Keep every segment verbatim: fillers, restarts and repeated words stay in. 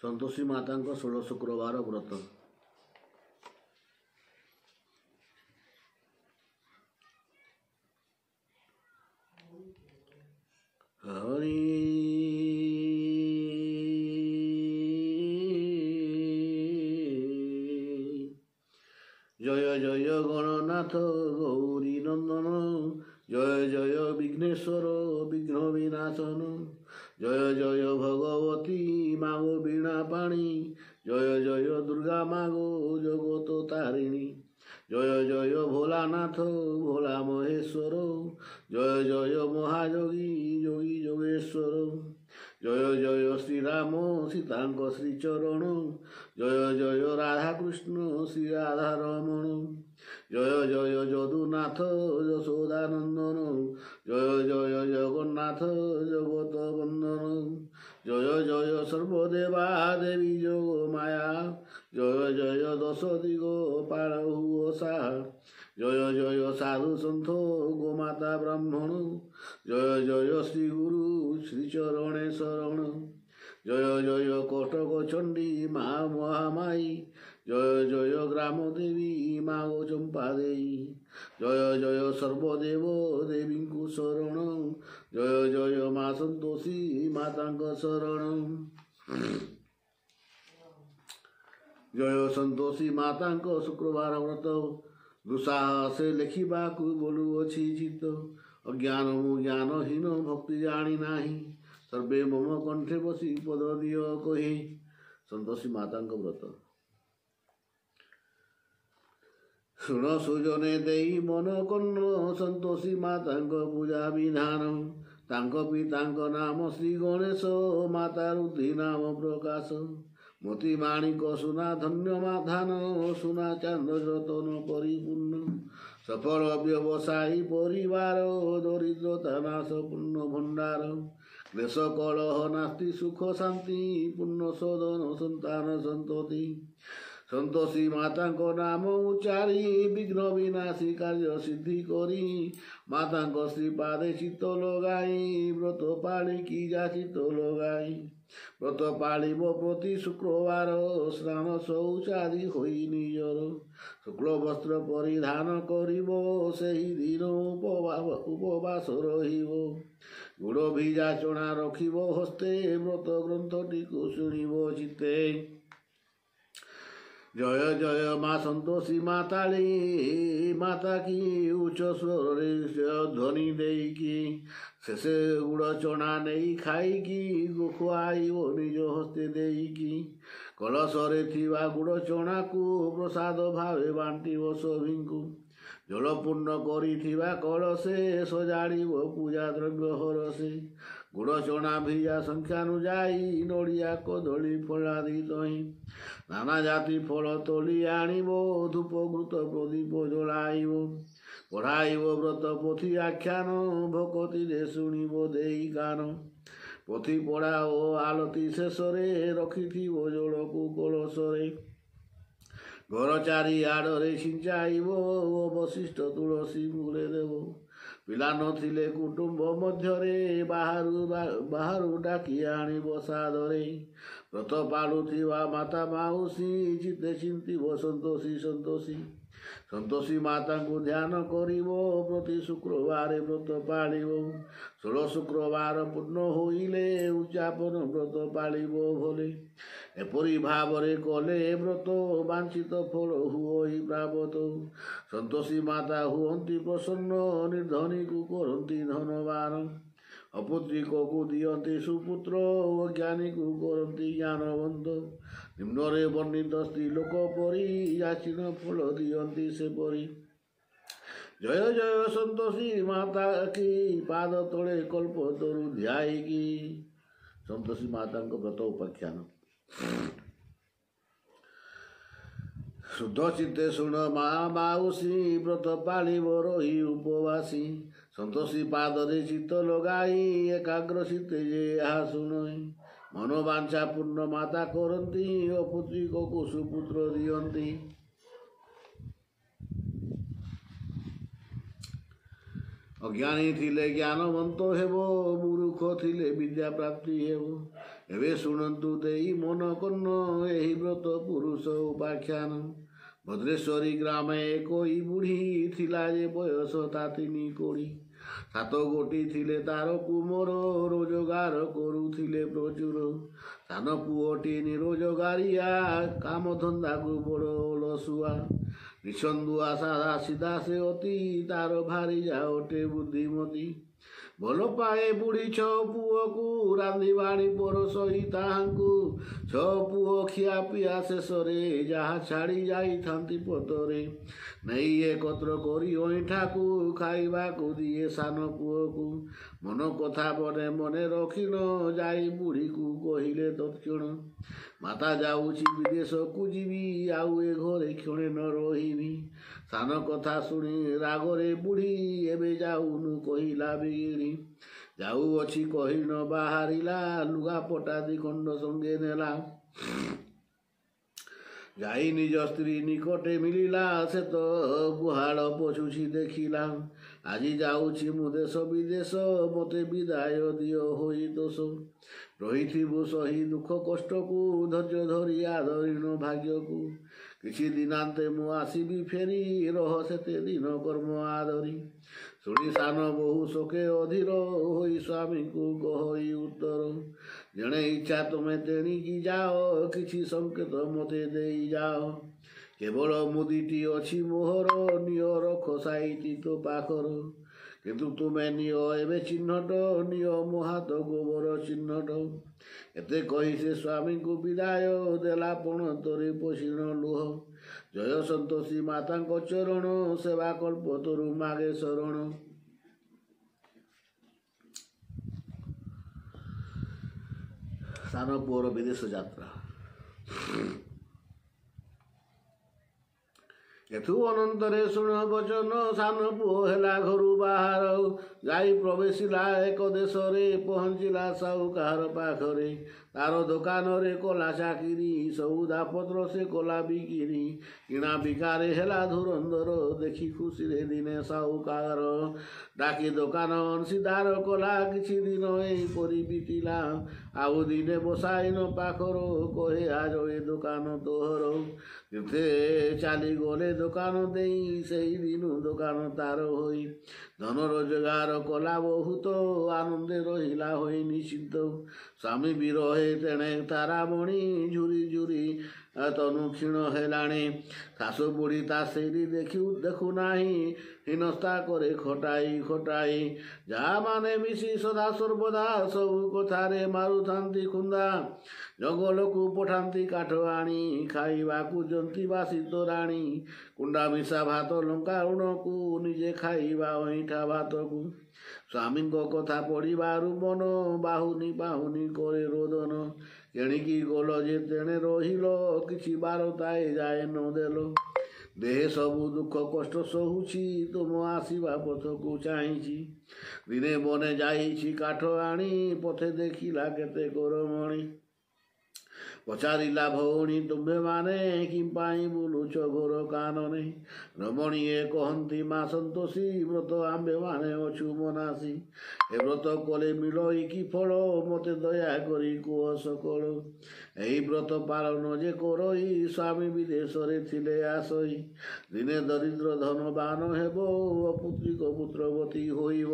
ସନ୍ତୋଷୀ ମାତାଙ୍କ ଷୋଳ ଶୁକ୍ରବାର ବ୍ରତ। ହରି ଜୟ ଜୟ ଗଣନାଥ ଗୌରୀ ନନ୍ଦନ, ଜୟ ଜୟ ବିଘ୍ନେଶ୍ୱର ବିଘ୍ନ ବିନାଶନ, ଜୟ ଜୟ ଭଗବତୀ ମାଗୋ ବୀଣା ପାଣି, ଜୟ ଜୟ ଦୁର୍ଗା ମାଗୋ ଜଗତ ତାରିଣୀ, ଜୟ ଜୟ ଭୋଲାନାଥ ଭୋଲା ମହେଶ୍ୱର, ଜୟ ଜୟ ମହାଯୋଗୀ ଯୋଗୀ ଯୋଗେଶ୍ୱର, ଜୟ ଜୟ ଶ୍ରୀରାମ ସୀତାଙ୍କ ଶ୍ରୀଚରଣ, ଜୟ ଜୟ ରାଧାକୃଷ୍ଣ ଶ୍ରୀ ରାଧାରମଣ, ଜୟ ଜୟ ଯଦୁନାଥ ଯଶୋଦାନନ୍ଦନ, ଜୟ ଜୟ ଜଗନ୍ନାଥ ଜଗତ ବନ୍ଦନ, ଜୟ ଜୟ ସର୍ବଦେବା ଦେବୀ ଯୋଗ ମାୟା, ଜୟ ଜୟ ଦଶ ଦିଗ ପାର ହୁଅ ସାହା, ଜୟ ଜୟ ସାଧୁ ସନ୍ଥ ଗୋମାତା ବ୍ରାହ୍ମଣ, ଜୟ ଜୟ ଶ୍ରୀ ଗୁରୁ ଶ୍ରୀଚରଣେ ଶରଣ, ଜୟ ଜୟ କଟକ ଚଣ୍ଡୀ ମା ମହାମାଇ, ଜୟ ଜୟ ଗ୍ରାମ ଦେବୀ ମା ଗୋ ଚମ୍ପା ଦେଇ, ଜୟ ଜୟ ସର୍ବଦେବ ଦେବୀଙ୍କୁ ଶରଣ, ଜୟ ଜୟ ମା ସନ୍ତୋଷୀ ମାତାଙ୍କ ଶରଣ, ଜୟ ସନ୍ତୋଷୀ ମାତାଙ୍କ ଶୁକ୍ରବାର ବ୍ରତ। ଦୁଃସାହସେ ଲେଖିବାକୁ ବୋଲୁଅଛି ଚିତ୍ତ, ଅଜ୍ଞାନ ମୁଁ ଜ୍ଞାନହୀନ ଭକ୍ତି ଜାଣି ନାହିଁ, ସର୍ବେ ମମ କଣ୍ଠେ ବସି ପଦ ଦିଅ କହି। ସନ୍ତୋଷୀ ମାତାଙ୍କ ବ୍ରତ। ଶୁଣ ସୁଜନେ ଦେଇ ମନ କର୍ଣ୍ଣ, ସନ୍ତୋଷୀ ମାତାଙ୍କ ପୂଜା ବିଧାନ, ତାଙ୍କ ପିତାଙ୍କ ନାମ ଶ୍ରୀ ଗଣେଶ, ମାତା ରୁଦ୍ଧି ନାମ ପ୍ରକାଶ, ମୋତି ମାଣିକ ସୁନା ଧନ୍ୟ ଧାନ, ସୁନା ଚାନ୍ଦ ରତନ ପରିପୂର୍ଣ୍ଣ, ସଫଳ ବ୍ୟବସାୟୀ ପରିବାର, ଦରିଦ୍ରତା ନାଶ ପୂର୍ଣ୍ଣ ଭଣ୍ଡାର, କ୍ଲେଶ କଳହ ନାସ୍ତି ସୁଖ ଶାନ୍ତି, ପୂର୍ଣ୍ଣ ସଦନ ସନ୍ତାନ ସନ୍ତତି, ସନ୍ତୋଷୀ ମାତାଙ୍କ ନାମ ଉଚ୍ଚାରି, ବିଘ୍ନ ବିନାଶୀ କାର୍ଯ୍ୟ ସିଦ୍ଧି କରି, ମାତାଙ୍କ ଶ୍ରୀପାଦେ ଚିତ୍ତ ଲଗାଇ, ବ୍ରତ ପାଳିକି ଯା ଚିତ୍ତ ଲଗାଇ, ବ୍ରତ ପାଳିବ ପ୍ରତି ଶୁକ୍ରବାର, ସ୍ନାନ ଶୌଚାଦି ହୋଇ ନିଜର, ଶୁକ୍ଳ ବସ୍ତ୍ର ପରିଧାନ କରିବ, ସେହି ଦିନ ଉପବାସ ରହିବ, ଗୁଡ଼ ଭିଜା ଚଣା ରଖିବ ହସ୍ତେ, ବ୍ରତ ଗ୍ରନ୍ଥଟିକୁ ଶୁଣିବ ଚିତ୍ତେ। ଜୟ ଜୟ ମା ସନ୍ତୋଷୀ ମାତାଳି ମାତା କି ଉଚ୍ଚ ସ୍ୱରରେ ଧ୍ୱନି ଦେଇକି, ଶେଷେ ଗୁଡ଼ ଚଣା ନେଇ ଖାଇକି, ଖୁଆଇବ ନିଜ ହସ୍ତେ ଦେଇକି, କଳସରେ ଥିବା ଗୁଡ଼ ଚଣାକୁ ପ୍ରସାଦ ଭାବେ ବାଣ୍ଟିବ ସଭିଙ୍କୁ, ଜଳପୂର୍ଣ୍ଣ କରିଥିବା କଳସେ ସଜାଡ଼ିବ ପୂଜା ଦ୍ରବ୍ୟ ହରସେ, ଗୁଡ଼ ଚଣା ଭିଜା ସଂଖ୍ୟାନୁଯାୟୀ, ନଡ଼ିଆ କଦଳୀ ଫଳାଦି ଦହି, ନାନା ଜାତି ଫଳ ତୋଳି ଆଣିବ, ଧୂପ ଘୃତ ପ୍ରଦୀପ ଜଳାଇବ, ପଢ଼ାଇବ ବ୍ରତ ପୋଥି ଆଖ୍ୟାନ, ଭକତିରେ ଶୁଣିବ ଦେଇ କାନ, ପୋଥି ପଢ଼ା ଓ ଆଳତି ଶେଷରେ ରଖିଥିବ ଜଳକୁ କଳସରେ, ଘର ଚାରିଆଡ଼ରେ ଛିଞ୍ଚାଇବ, ଅବଶିଷ୍ଟ ତୁଳସୀ ମୂଳେ ଦେବ, ପିଲା ନଥିଲେ କୁଟୁମ୍ବ ମଧ୍ୟରେ ବାହାରୁ ବାହାରୁ ଡାକି ଆଣିବ ସାଦରେ, ବ୍ରତ ପାଳୁଥିବା ମାତା ମାଉସୀ ଚିତେ ଚିନ୍ତିବ ସନ୍ତୋଷୀ ସନ୍ତୋଷୀ, ସନ୍ତୋଷୀ ମାତାଙ୍କୁ ଧ୍ୟାନ କରିବ, ପ୍ରତି ଶୁକ୍ରବାର ବ୍ରତ ପାଳିବ, ଷୋଳ ଶୁକ୍ରବାର ପୂର୍ଣ୍ଣ ହୋଇଲେ ଉଦ୍ଯାପନ ବ୍ରତ ପାଳିବ ଭଲେ, ଏପରି ଭାବରେ କଲେ ବ୍ରତ ବାଞ୍ଛିତ ଫଳ ହୁଅଇ ପ୍ରାପତ, ସନ୍ତୋଷୀ ମାତା ହୁଅନ୍ତି ପ୍ରସନ୍ନ, ନିର୍ଧନୀକୁ କରନ୍ତି ଧନବାନ, ଅପୁତ୍ରିକକୁ ଦିଅନ୍ତି ସୁପୁତ୍ର, ଅଜ୍ଞାନୀକୁ କରନ୍ତି ଜ୍ଞାନବନ୍ତ, ନିମ୍ନରେ ବର୍ଣ୍ଣିତ ସ୍ତ୍ରୀ ଲୋକ ପରି ଯାଚିନ ଫଳ ଦିଅନ୍ତି ସେପରି। ଜୟ ଜୟ ସନ୍ତୋଷୀ ମାତା କି ପାଦ ତଳେ କଳ୍ପ ତରୁ ଧ୍ୟାଇକି। ସନ୍ତୋଷୀ ମାତାଙ୍କ ବ୍ରତ ଉପାଖ୍ୟାନ। ଶୁଦ୍ଧ ଚିତ୍ତେ ଶୁଣ ମା ମାଉସୀ, ବ୍ରତ ପାଳିବ ରହି ଉପବାସୀ, ସନ୍ତୋଷୀ ପାଦରେ ଚିତ୍ତ ଲଗାଇ, ଏକାଗ୍ର ଚିତ୍ତେ ଯେ ଏହା ଶୁଣଇ, ମନୋବାଞ୍ଛା ପୂର୍ଣ୍ଣ ମାତା କରନ୍ତି, ଅପୁତ୍ରିକକୁ ସୁପୁତ୍ର ଦିଅନ୍ତି। ଅଜ୍ଞାନୀ ଥିଲେ ଜ୍ଞାନବନ୍ତ ହେବ, ମୂର୍ଖ ଥିଲେ ବିଦ୍ୟା ପ୍ରାପ୍ତି ହେବ, ଏବେ ଶୁଣନ୍ତୁ ଦେଇ ମନ କର୍ଣ୍ଣ ଏହି ବ୍ରତ ପୁରୁଷ ଉପାଖ୍ୟାନ। ଭଦ୍ରେଶ୍ୱରୀ ଗ୍ରାମେ ଏକ ବୁଢ଼ୀ ଥିଲା ଯେ ବୟସ ତା ତିନି କୋଡ଼ି। ସାତ ଗୋଟି ଥିଲେ ତାର କୁମର, ରୋଜଗାର କରୁଥିଲେ ପ୍ରଚୁର। ସାନ ପୁଅଟି ନିରୋଜଗାରିଆ, କାମ ଧନ୍ଦାକୁ ବଡ଼ ଅଳସୁଆ। ନିଛନ୍ଦୁଆ ସାଧା ସିଧା ସେ ଅତି, ତାର ଭାରିଯା ଅଟେ ବୁଦ୍ଧିମତୀ। ଭଲ ପାଏ ବୁଢ଼ୀ ଛଅ ପୁଅକୁ, ରାନ୍ଧି ବାଢ଼ି ପରସଇ ତାହାଙ୍କୁ। ଛଅ ପୁଅ ଖିଆ ପିଆ ଶେଷରେ, ଯାହା ଛାଡ଼ି ଯାଇଥାନ୍ତି ପତରେ, ନେଇ ଏକତ୍ର କରି ଅଇଁଠାକୁ ଖାଇବାକୁ ଦିଏ ସାନ ପୁଅକୁ। ମନ କଥା ମନେ ମନେ ରଖିଣ, ଯାଇ ବୁଢ଼ୀକୁ କହିଲେ ତତ୍କ୍ଷଣ, ମାତା ଯାଉଛି ବିଦେଶକୁ ଯିବି, ଆଉ ଏ ଘରେ କ୍ଷଣେ ନ ରହିବି। ସାନ କଥା ଶୁଣି ରାଗରେ ବୁଢ଼ୀ, ଏବେ ଯାଉନୁ କହିଲା ବିଗିଡ଼ି। ଯାଉଅଛି କହି ନ ବାହାରିଲା, ଲୁଗାପଟା ଦି ଖଣ୍ଡ ସଙ୍ଗେ ନେଲା। ଯାଇ ନିଜ ସ୍ତ୍ରୀ ନିକଟେ ମିଳିଲା, ସେ ତ ଗୁହାଳ ପୋଛୁଛି ଦେଖିଲା। ଆଜି ଯାଉଛି ମୁଁ ଦେଶ ବିଦେଶ, ମୋତେ ବିଦାୟ ଦିଅ ହୋଇ ଦୋଷ। ରହିଥିବୁ ସହି ଦୁଃଖ କଷ୍ଟକୁ, ଧୈର୍ଯ୍ୟ ଧରି ଆଦରିଣ ଭାଗ୍ୟକୁ। କିଛି ଦିନାନ୍ତେ ମୁଁ ଆସିବି ଫେରି, ରହ ସେତେ ଦିନ କର୍ମ ଆଦରି। ଶୁଣି ସାନ ବୋହୂ ଶୋକେ ଅଧୀର ହୋଇ ସ୍ୱାମୀଙ୍କୁ କହଇ ଉତ୍ତର, ଯେଣେ ଇଚ୍ଛା ତୁମେ ତେଣିକି ଯାଅ, କିଛି ସଂକେତ ମୋତେ ଦେଇ ଯାଅ। କେବଳ ମୁଦିଟି ଅଛି ମୋହର, ନିଅ ରଖ ସାଇତି ତୋ ପାଖର। କିନ୍ତୁ ତୁମେ ନିଅ ଏବେ ଚିହ୍ନଟ, ନିଅ ମୋ ହାତ ଗୋବର ଚିହ୍ନଟ। ଏତେ କହି ସେ ସ୍ୱାମୀଙ୍କୁ ବିଦାୟ ଦେଲା, ପଣତରେ ପୋଷିଣ ଲୁହ। ଜୟ ସନ୍ତୋଷୀ ମାତାଙ୍କ ଚରଣ, ସେବା କଳ୍ପତରୁ ମାଗେ ଶରଣ। ସାନ ପୁଅର ବିଦେଶ ଯାତ୍ରା। ଏଥୁ ଅନନ୍ତରେ ଶୁଣ ବଚନ, ସାନ ପୁଅ ହେଲା ଘରୁ ବାହାର। ଯାଇ ପ୍ରବେଶିଲା ଏକ ଦେଶରେ, ପହଞ୍ଚିଲା ସାହୁକାର ପାଖରେ। ତାର ଦୋକାନରେ କଲା ଚାକିରି, ସଉଦା ପତ୍ର ସେ କଲା ବିକିରି। କିଣା ବିକାରେ ହେଲା ଧୁରନ୍ଧର, ଦେଖି ଖୁସିରେ ଦିନେ ସାହୁକାର ଡାକି ଦୋକାନ ଅଂଶୀଦାର କଲା। କିଛି ଦିନ ଏହିପରି ବିତିଲା, ଆଉ ଦିନେ ବସାଇନ ପାଖର, କହେ ଆଜ ଏ ଦୋକାନ ତୋହର। ତୀର୍ଥେ ଚାଲିଗଲେ ଦୋକାନ ଦେଇ, ସେଇ ଦିନୁ ଦୋକାନ ତାର ହୋଇ। ଧନ ରୋଜଗାର କଲା ବହୁତ, ଆନନ୍ଦେ ରହିଲା ହୋଇ ନିଶ୍ଚିନ୍ତ। ସ୍ୱାମୀ ବିରହେ ତେଣେ ତାରାମଣି, ଝୁରି ଝୁରି ତନୁ କ୍ଷୀଣ ହେଲାଣି। ଶାଶୁ ବୁଢ଼ୀ ତା ସେଇଠି ଦେଖୁ ଦେଖୁନାହିଁ, ହୀନସ୍ତା କରେ ଖଟାଇ ଖଟାଇ। ଯାମାନେ ମିଶି ସଦା ସର୍ବଦା ସବୁ କଥାରେ ମାରୁଥାନ୍ତି ଖୁନ୍ଦା। ଜଙ୍ଗଲକୁ ପଠାନ୍ତି କାଠ ଆଣି, ଖାଇବାକୁ ଜନ୍ତି ବାସି ତୋରାଣୀ। କୁଣ୍ଡା ମିଶା ଭାତ ଲଙ୍କା ଲୁଣକୁ, ନିଜେ ଖାଇବା ଅଇଁଠା ଭାତକୁ। ସ୍ୱାମୀଙ୍କ କଥା ପଡ଼ିବାରୁ ମନ ବାହୁନି ବାହୁନି କରେ ରୋଦନ। କେଣିକି ଗଲ ଯେ ତେଣେ ରହିଲ, କିଛି ବାରତା ଏ ଯାଏ ନ ଦେଲ। ଦେହେ ସବୁ ଦୁଃଖ କଷ୍ଟ ସହୁଛି, ତୁମ ଆସିବା ପଥକୁ ଚାହିଁଛି। ଦିନେ ବନେ ଯାଇଛି କାଠ ଆଣି, ପଥେ ଦେଖିଲା କେତେ ରମଣୀ। ପଚାରିଲା ଭଉଣୀ ତୁମ୍ଭେମାନେ କି ପାଇଁ ବୁଲୁଛ ଘୋର କାନନେ? ରମଣୀଏ କହନ୍ତି ମା ସନ୍ତୋଷୀ, ବ୍ରତ ଆମ୍ଭେମାନେ ଅଛୁ ମନାସୀ। ଏ ବ୍ରତ କଲେ ମିଳଇ କି ଫଳ, ମୋତେ ଦୟା କରି କୁହ ସକଳ। ଏହି ବ୍ରତ ପାଳନ ଯେ କରଇ, ସ୍ୱାମୀ ବିଦେଶରେ ଥିଲେ ଆସଇ। ଦିନେ ଦରିଦ୍ର ଧନବାନ ହେବ, ଅପୁତ୍ରିକ ପୁତ୍ରବତୀ ହୋଇବ।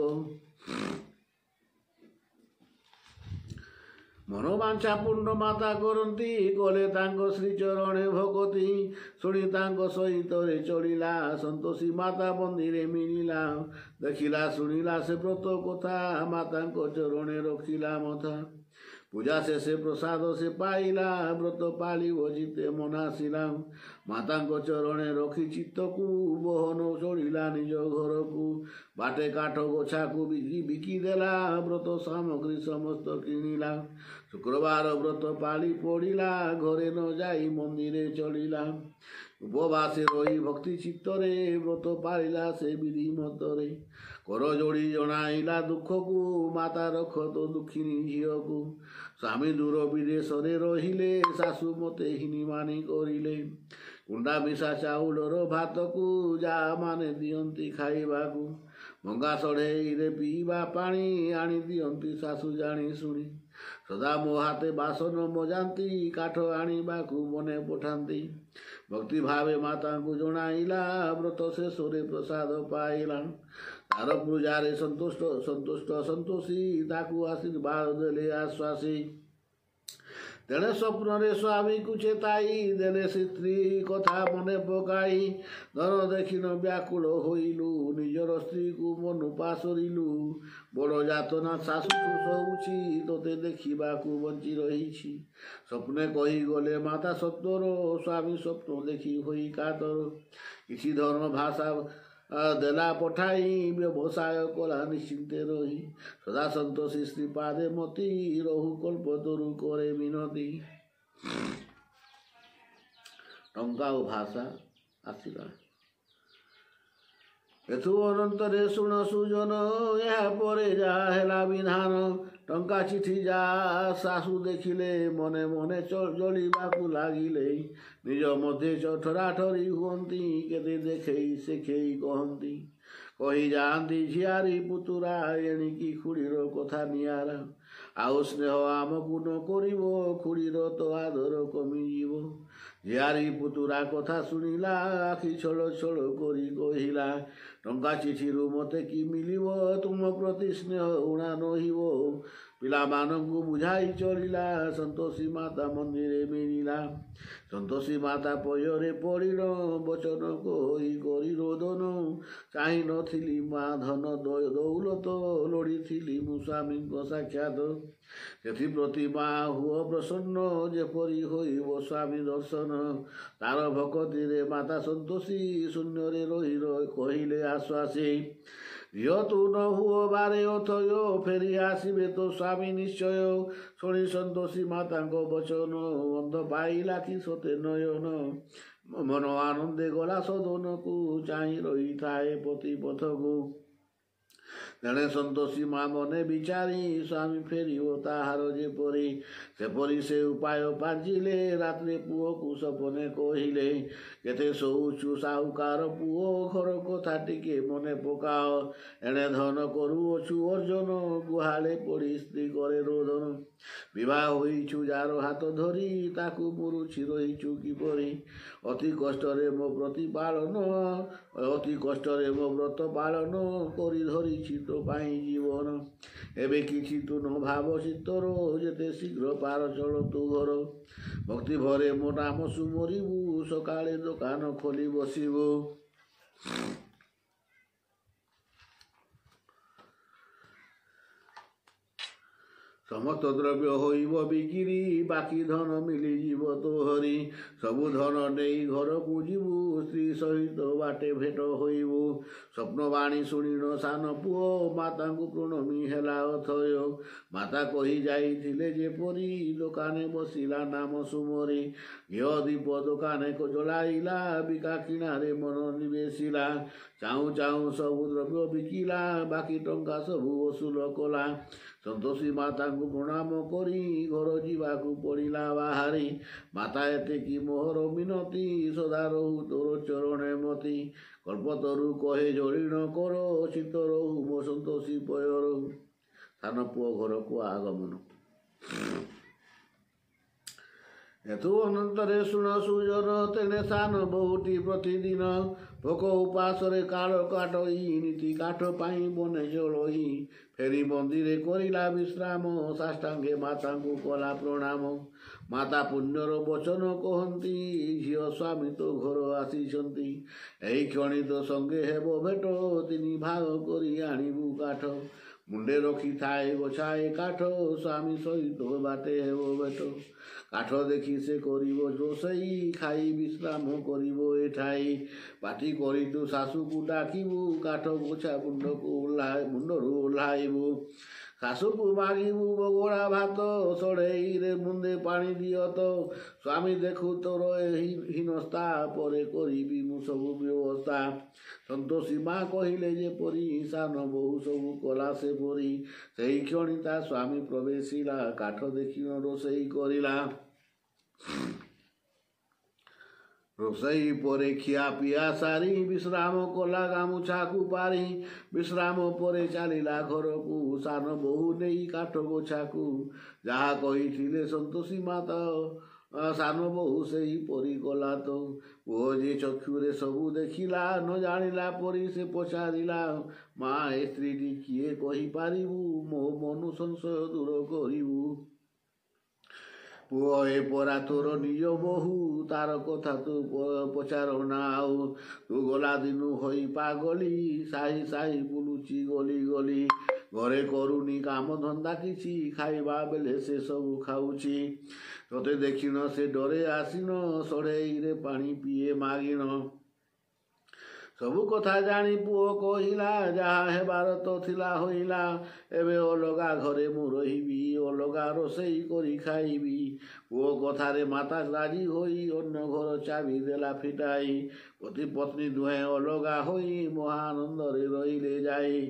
ମନୋବାଞ୍ଛା ପୂର୍ଣ୍ଣ ମାତା କରନ୍ତି, କଲେ ତାଙ୍କ ଶ୍ରୀଚରଣେ ଭକତି। ଶୁଣି ତାଙ୍କ ସହିତରେ ଚଳିଲା, ସନ୍ତୋଷୀ ମାତା ମନ୍ଦିରେ ମିଳିଲା। ଦେଖିଲା ଶୁଣିଲା ସେ ବ୍ରତ କଥା, ମାତାଙ୍କ ଚରଣେ ରଖିଲା ମଥା। ପୂଜା ଶେଷେ ପ୍ରସାଦ ସେ ପାଇଲା, ବ୍ରତ ପାଳିବ ଜିତେ ମନାସିଲା। ମାତାଙ୍କ ଚରଣେ ରଖି ଚିତ୍ତକୁ, ବହନ ଚଳିଲା ନିଜ ଘରକୁ। ବାଟେ କାଠ ଗୋଛାକୁ ବିକି ବିକି ଦେଲା, ବ୍ରତ ସାମଗ୍ରୀ ସମସ୍ତ କିଣିଲା। ଶୁକ୍ରବାର ବ୍ରତ ପାଳି ପଡ଼ିଲା, ଘରେ ନ ଯାଇ ମନ୍ଦିରେ ଚଳିଲା। ଉପବାସେ ରହି ଭକ୍ତି ଚିତ୍ତରେ, ବ୍ରତ ପାଳିଲା ସେ ବିଧି ମତରେ। କର ଯୋଡ଼ି ଜଣାଇଲା ଦୁଃଖକୁ, ମାତା ରଖ ତୋ ଦୁଃଖିନୀ ଝିଅକୁ। ସ୍ୱାମୀ ଦୂର ବିଦେଶରେ ରହିଲେ, ଶାଶୁ ମୋତେ ହୀନିମାନି କରିଲେ। କୁଣ୍ଡା ମିଶା ଚାଉଳର ଭାତକୁ, ଯାଆ ମାନେ ଦିଅନ୍ତି ଖାଇବାକୁ। ଭଙ୍ଗା ସଢ଼େଇରେ ପିଇବା ପାଣି, ଆଣି ଦିଅନ୍ତି ଶାଶୁ ଜାଣି ଶୁଣି। ସଦା ମୋ ହାତେ ବାସନ ମଜାନ୍ତି, କାଠ ଆଣିବାକୁ ମନେ ପଠାନ୍ତି। ଭକ୍ତି ଭାବେ ମାତାଙ୍କୁ ଜଣାଇଲା, ବ୍ରତ ଶେଷରେ ପ୍ରସାଦ ପାଇଲା। ତାର ପୂଜାରେ ସନ୍ତୁଷ୍ଟ ସନ୍ତୁଷ୍ଟ ସନ୍ତୋଷୀ, ତାକୁ ଆଶୀର୍ବାଦ ଦେଲେ ଆଶ୍ୱାସୀ। ତେଣେ ସ୍ୱପ୍ନରେ ସ୍ୱାମୀକୁ ଚେତାଇ ଦେଲେ ସେ ସ୍ତ୍ରୀ କଥା ମନେ ପକାଇ। ଧନ ଦେଖିନ ବ୍ୟାକୁଳ ହୋଇଲୁ, ନିଜର ସ୍ତ୍ରୀକୁ ମନୁ ପାସୋରିଲୁ। ବଡ଼ ଯାତନା ଶାଶୁଠୁ ସହୁଛି, ତୋତେ ଦେଖିବାକୁ ବଞ୍ଚି ରହିଛି। ସ୍ୱପ୍ନେ କହିଗଲେ ମାତା ସତ୍ୱର, ସ୍ୱାମୀ ସ୍ୱପ୍ନ ଦେଖି ହୋଇ କାତର। କିଛି ଧନ ଭାଷା ଦେଲା ପଠାଇ, ବ୍ୟବସାୟ କଲା ନିଶ୍ଚିନ୍ତେ ରହି। ସଦା ସନ୍ତୋଷୀ ଶ୍ରୀପାଦେ ମତି, ରହୁ କଳ୍ପତରୁ କରେ ମିନତି। ଟଙ୍କା ଓ ଭାଷା ଆସିଲା। ଏଥୁ ଅନନ୍ତରେ ଶୁଣ ସୁଜନ, ଏହା ପରେ ଯାହା ହେଲା ବିଧାନ। ଟଙ୍କା ଚିଠି ଯା ଶାଶୁ ଦେଖିଲେ, ମନେ ମନେ ଜଳିବାକୁ ଲାଗିଲେ। ନିଜ ମଧ୍ୟେ ଠରାଠରି ହୁଅନ୍ତି, କେତେ ଦେଖେଇ ଶେଖେଇ କହନ୍ତି। କହି ଯାଆନ୍ତି ଝିଆରୀ ପୁତୁରା, ଏଣିକି ଖୁଡ଼ିର କଥା ନିଆରା। ଆଉ ସ୍ନେହ ଆମକୁ ନ କରିବ, ଖୁଡ଼ିର ତ ଆଦର କମିଯିବ। ଝିଆରୀ ପୁତୁରା କଥା ଶୁଣିଲା, ଆଖି ଛଳ ଛଳ କରି କହିଲା, ଟଙ୍କା ଚିଠିରୁ ମୋତେ କି ମିଳିବ? ତୁମ ପ୍ରତି ସ୍ନେହ ଊଣା ନହିବ। ପିଲାମାନଙ୍କୁ ବୁଝାଇ ଚଳିଲା, ସନ୍ତୋଷୀ ମାତା ମନ୍ଦିରେ ମିଳିଲା। ସନ୍ତୋଷୀ ମାତା ପୟରେ ପଡ଼ିଲ, ବଚନ କହି କରି ରୋଦନ। ଚାହିଁ ନଥିଲି ମା ଧନ ଦୌଲତ, ଲୋଡ଼ିଥିଲି ମୁଁ ସ୍ୱାମୀଙ୍କ ସାକ୍ଷାତ। ସେଥିପ୍ରତି ମା ହୁଅ ପ୍ରସନ୍ନ, ଯେପରି ହୋଇବ ସ୍ୱାମୀ ଦର୍ଶନ। ତାର ଭକତିରେ ମାତା ସନ୍ତୋଷୀ, ଶୂନ୍ୟରେ ରହି କହିଲେ ଆଶ୍ୱାସୀ। ଝିଅ ତୁ ନ ହୁଅ ବାରେ ଅଥୟ, ଫେରି ଆସିବେ ତୋ ସ୍ୱାମୀ ନିଶ୍ଚୟ। ଶୁଣି ସନ୍ତୋଷୀ ମାତାଙ୍କ ବଚନ, ଅନ୍ଧ ପାଇଲା କି ସତେ ନୟନ। ମନ ଆନନ୍ଦେ ଗଲା ସଦନକୁ, ଚାହିଁ ରହିଥାଏ ପତି ପଥକୁ। ତେଣେ ସନ୍ତୋଷୀ ମା ମନେ ବିଚାରି, ସ୍ୱାମୀ ଫେରିବ ତାହାର ଯେପରି, ସେପରି ସେ ଉପାୟ ପାଞ୍ଚିଲେ। ରାତ୍ରେ ପୁଅକୁ ସପନେ କହିଲେ, କେତେ ଶୋଉଛୁ ସାହୁକାର ପୁଅ, ଘର କଥା ଟିକେ ମନେ ପକାଅ। ଏଣେ ଧନ କରୁଅଛୁ ଅର୍ଜନ, ଗୁହାଳେ ପଡ଼ି ସ୍ତ୍ରୀ କରେ ରୋଦନ। ବିବାହ ହୋଇଛୁ ଯାର ହାତ ଧରି, ତାକୁ ମୁରୁଛି ରହିଛୁ କିପରି? ଅତି କଷ୍ଟରେ ମୋ ପ୍ରତିପାଳନ, ଅତି କଷ୍ଟରେ ମୋ ବ୍ରତ ପାଳନ କରି ଧରିଛି ତୋ ପାଇଁ ଜୀବନ। ଏବେ କିଛି ତୁ ନ ଭାବ ଚିତ୍ତର, ଯେତେ ଶୀଘ୍ର ପାର ଚଳ ତୁ ଘର। ଭକ୍ତି ଭରେ ମୋ ନାମ ସୁମରିବୁ, ସକାଳେ ଦୋକାନ ଖୋଲି ବସିବୁ। ସମସ୍ତ ଦ୍ରବ୍ୟ ହୋଇବ ବିକିରି, ବାକି ଧନ ମିଳିଯିବ ତୋହରି। ସବୁ ଧନ ନେଇ ଘରକୁ ଯିବୁ, ସ୍ତ୍ରୀ ସହିତ ବାଟେ ଭେଟ ହୋଇବୁ। ସ୍ୱପ୍ନବାଣୀ ଶୁଣିଣ ସାନ ପୁଅ, ମାତାଙ୍କୁ ପ୍ରଣମୀ ହେଲା ଅଥୟ। ମାତା କହି ଯାଇଥିଲେ ଯେପରି, ଦୋକାନେ ବସିଲା ନାମ ସୁମରି। ଘିଅ ଦୀପ ଦୋକାନେ ଜଳାଇଲା, ବିକା କିଣାରେ ମନ ନିବେଶିଲା। ଚାହୁଁ ଚାହୁଁ ସବୁ ଦ୍ରବ୍ୟ ବିକିଲା, ବାକି ଟଙ୍କା ସବୁ ଅସୁଲ କଲା। ସନ୍ତୋଷୀ ମାତାଙ୍କୁ ପ୍ରଣାମ କରି ଘର ଯିବାକୁ ପଡ଼ିଲା ବାହାରି। ମାତା ଏତିକି ମୋହର ମିନତି, ସଦା ରହୁ ତୋର ଚରଣେ ମତି। କଳ୍ପତରୁ କହେ ଜଳିଣ କର, ଚିତ୍ତ ରହୁ ମୋ ସନ୍ତୋଷୀ ପୟର। ସାନ ପୁଅ ଘରକୁ ଆଗମନ। ଏଥୁ ଅନନ୍ତରେ ଶୁଣ ସୁଜନ, ତେଣେ ସାନ ବହୁଟି ପ୍ରତିଦିନ ଭୋକ ଉପାସରେ କାଳ କାଟଇ, ନୀତି କାଠ ପାଇଁ ବନେ ଜଳଇ। ଫେରି ମନ୍ଦିରେ କରିଲା ବିଶ୍ରାମ, ସାଷ୍ଟାଙ୍ଗେ ମାତାଙ୍କୁ କଲା ପ୍ରଣାମ। ମାତା ପୁଣ୍ୟର ବଚନ କହନ୍ତି, ଝିଅ ସ୍ୱାମୀ ତୋ ଘର ଆସିଛନ୍ତି। ଏହି କ୍ଷଣି ତୋ ସଙ୍ଗେ ହେବ ଭେଟ, ତିନି ଭାଗ କରି ଆଣିବୁ କାଠ। ମୁଣ୍ଡେ ରଖିଥାଏ ଗୋଛାଏ କାଠ, ସ୍ୱାମୀ ସହିତ ବାଟେ ହେବ ଭେଟ। କାଠ ଦେଖି ସେ କରିବ ରୋଷେଇ, ଖାଇ ବିଶ୍ରାମ କରିବ ଏଠାଇ। ପାଟି କରି ତୁ ଶାଶୁକୁ ଡାକିବୁ, କାଠ ଗୋଛା ମୁଣ୍ଡକୁ ଓହ୍ଲା ମୁଣ୍ଡରୁ ଓହ୍ଲାଇବୁ। ଶାଶୁକୁ ମାଗିବୁ ବଗୋଳା ଭାତ, ସଢ଼େଇରେ ମୁନ୍ଦେ ପାଣି ଦିଅ ତ। ସ୍ୱାମୀ ଦେଖୁ ତୋର ଏହି ହୀନସ୍ଥା, ପରେ କରିବି ମୁଁ ସବୁ ବ୍ୟବସ୍ଥା। ସନ୍ତୋଷୀ ମା କହିଲେ ଯେପରି, ସାନ ବୋହୂ ସବୁ କଲା ସେପରି। ସେହି କ୍ଷଣି ତା ସ୍ୱାମୀ ପ୍ରବେଶିଲା, କାଠ ଦେଖିଣ ରୋଷେଇ କରିଲା। ରୋଷେଇ ପରେ ଖିଆ ପିଆ ସାରି ବିଶ୍ରାମ କଲା ଗାମୁଛାକୁ ପାରି। ବିଶ୍ରାମ ପରେ ଚାଲିଲା ଘରକୁ ସାନ ବୋହୂ ନେଇ କାଠ ଗୋଛାକୁ। ଯାହା କହିଥିଲେ ସନ୍ତୋଷୀ ମାତା ସାନ ବୋହୂ ସେହିପରି କଲା ତ। ପୁଅ ଯେ ଚକ୍ଷୁରେ ସବୁ ଦେଖିଲା, ନ ଜାଣିଲା ପରି ସେ ପଚାରିଲା, ମା, ଏ ସ୍ତ୍ରୀଟି କିଏ କହିପାରିବୁ? ମୋ ମନୁ ସଂଶୟ ଦୂର କରିବୁ। ପୁଅ, ଏ ପରା ତୋର ନିଜ ବୋହୂ, ତାର କଥା ତୁ ପଚାର ନା ଆଉ। ତୁ ଗଲା ଦିନୁ ହୋଇ ପାଗଳି, ସାହି ସାହି ବୁଲୁଚି ଗଲି ଗଲି। ଘରେ କରୁନି କାମ ଧନ୍ଦା କିଛି, ଖାଇବା ବେଳେ ସେ ସବୁ ଖାଉଛି। ତୋତେ ଦେଖିନ ସେ ଡରେ ଆସିନ, ସଢ଼େଇରେ ପାଣି ପିଏ ମାଗିଣ। ସବୁ କଥା ଜାଣି ପୁଅ କହିଲା, ଯାହା ହେବାର ତ ଥିଲା ହୋଇଲା। ଏବେ ଅଲଗା ଘରେ ମୁଁ ରହିବି, ଅଲଗା ରୋଷେଇ କରି ଖାଇବି। ପୁଅ କଥାରେ ମାତା ରାଜି ହୋଇ ଅନ୍ୟ ଘର ଚାବି ଦେଲା ଫିଟାଇ। ପତି ପତ୍ନୀ ଦୁହେଁ ଅଲଗା ହୋଇ ମହାନନ୍ଦରେ ରହିଲେ ଯାଇ।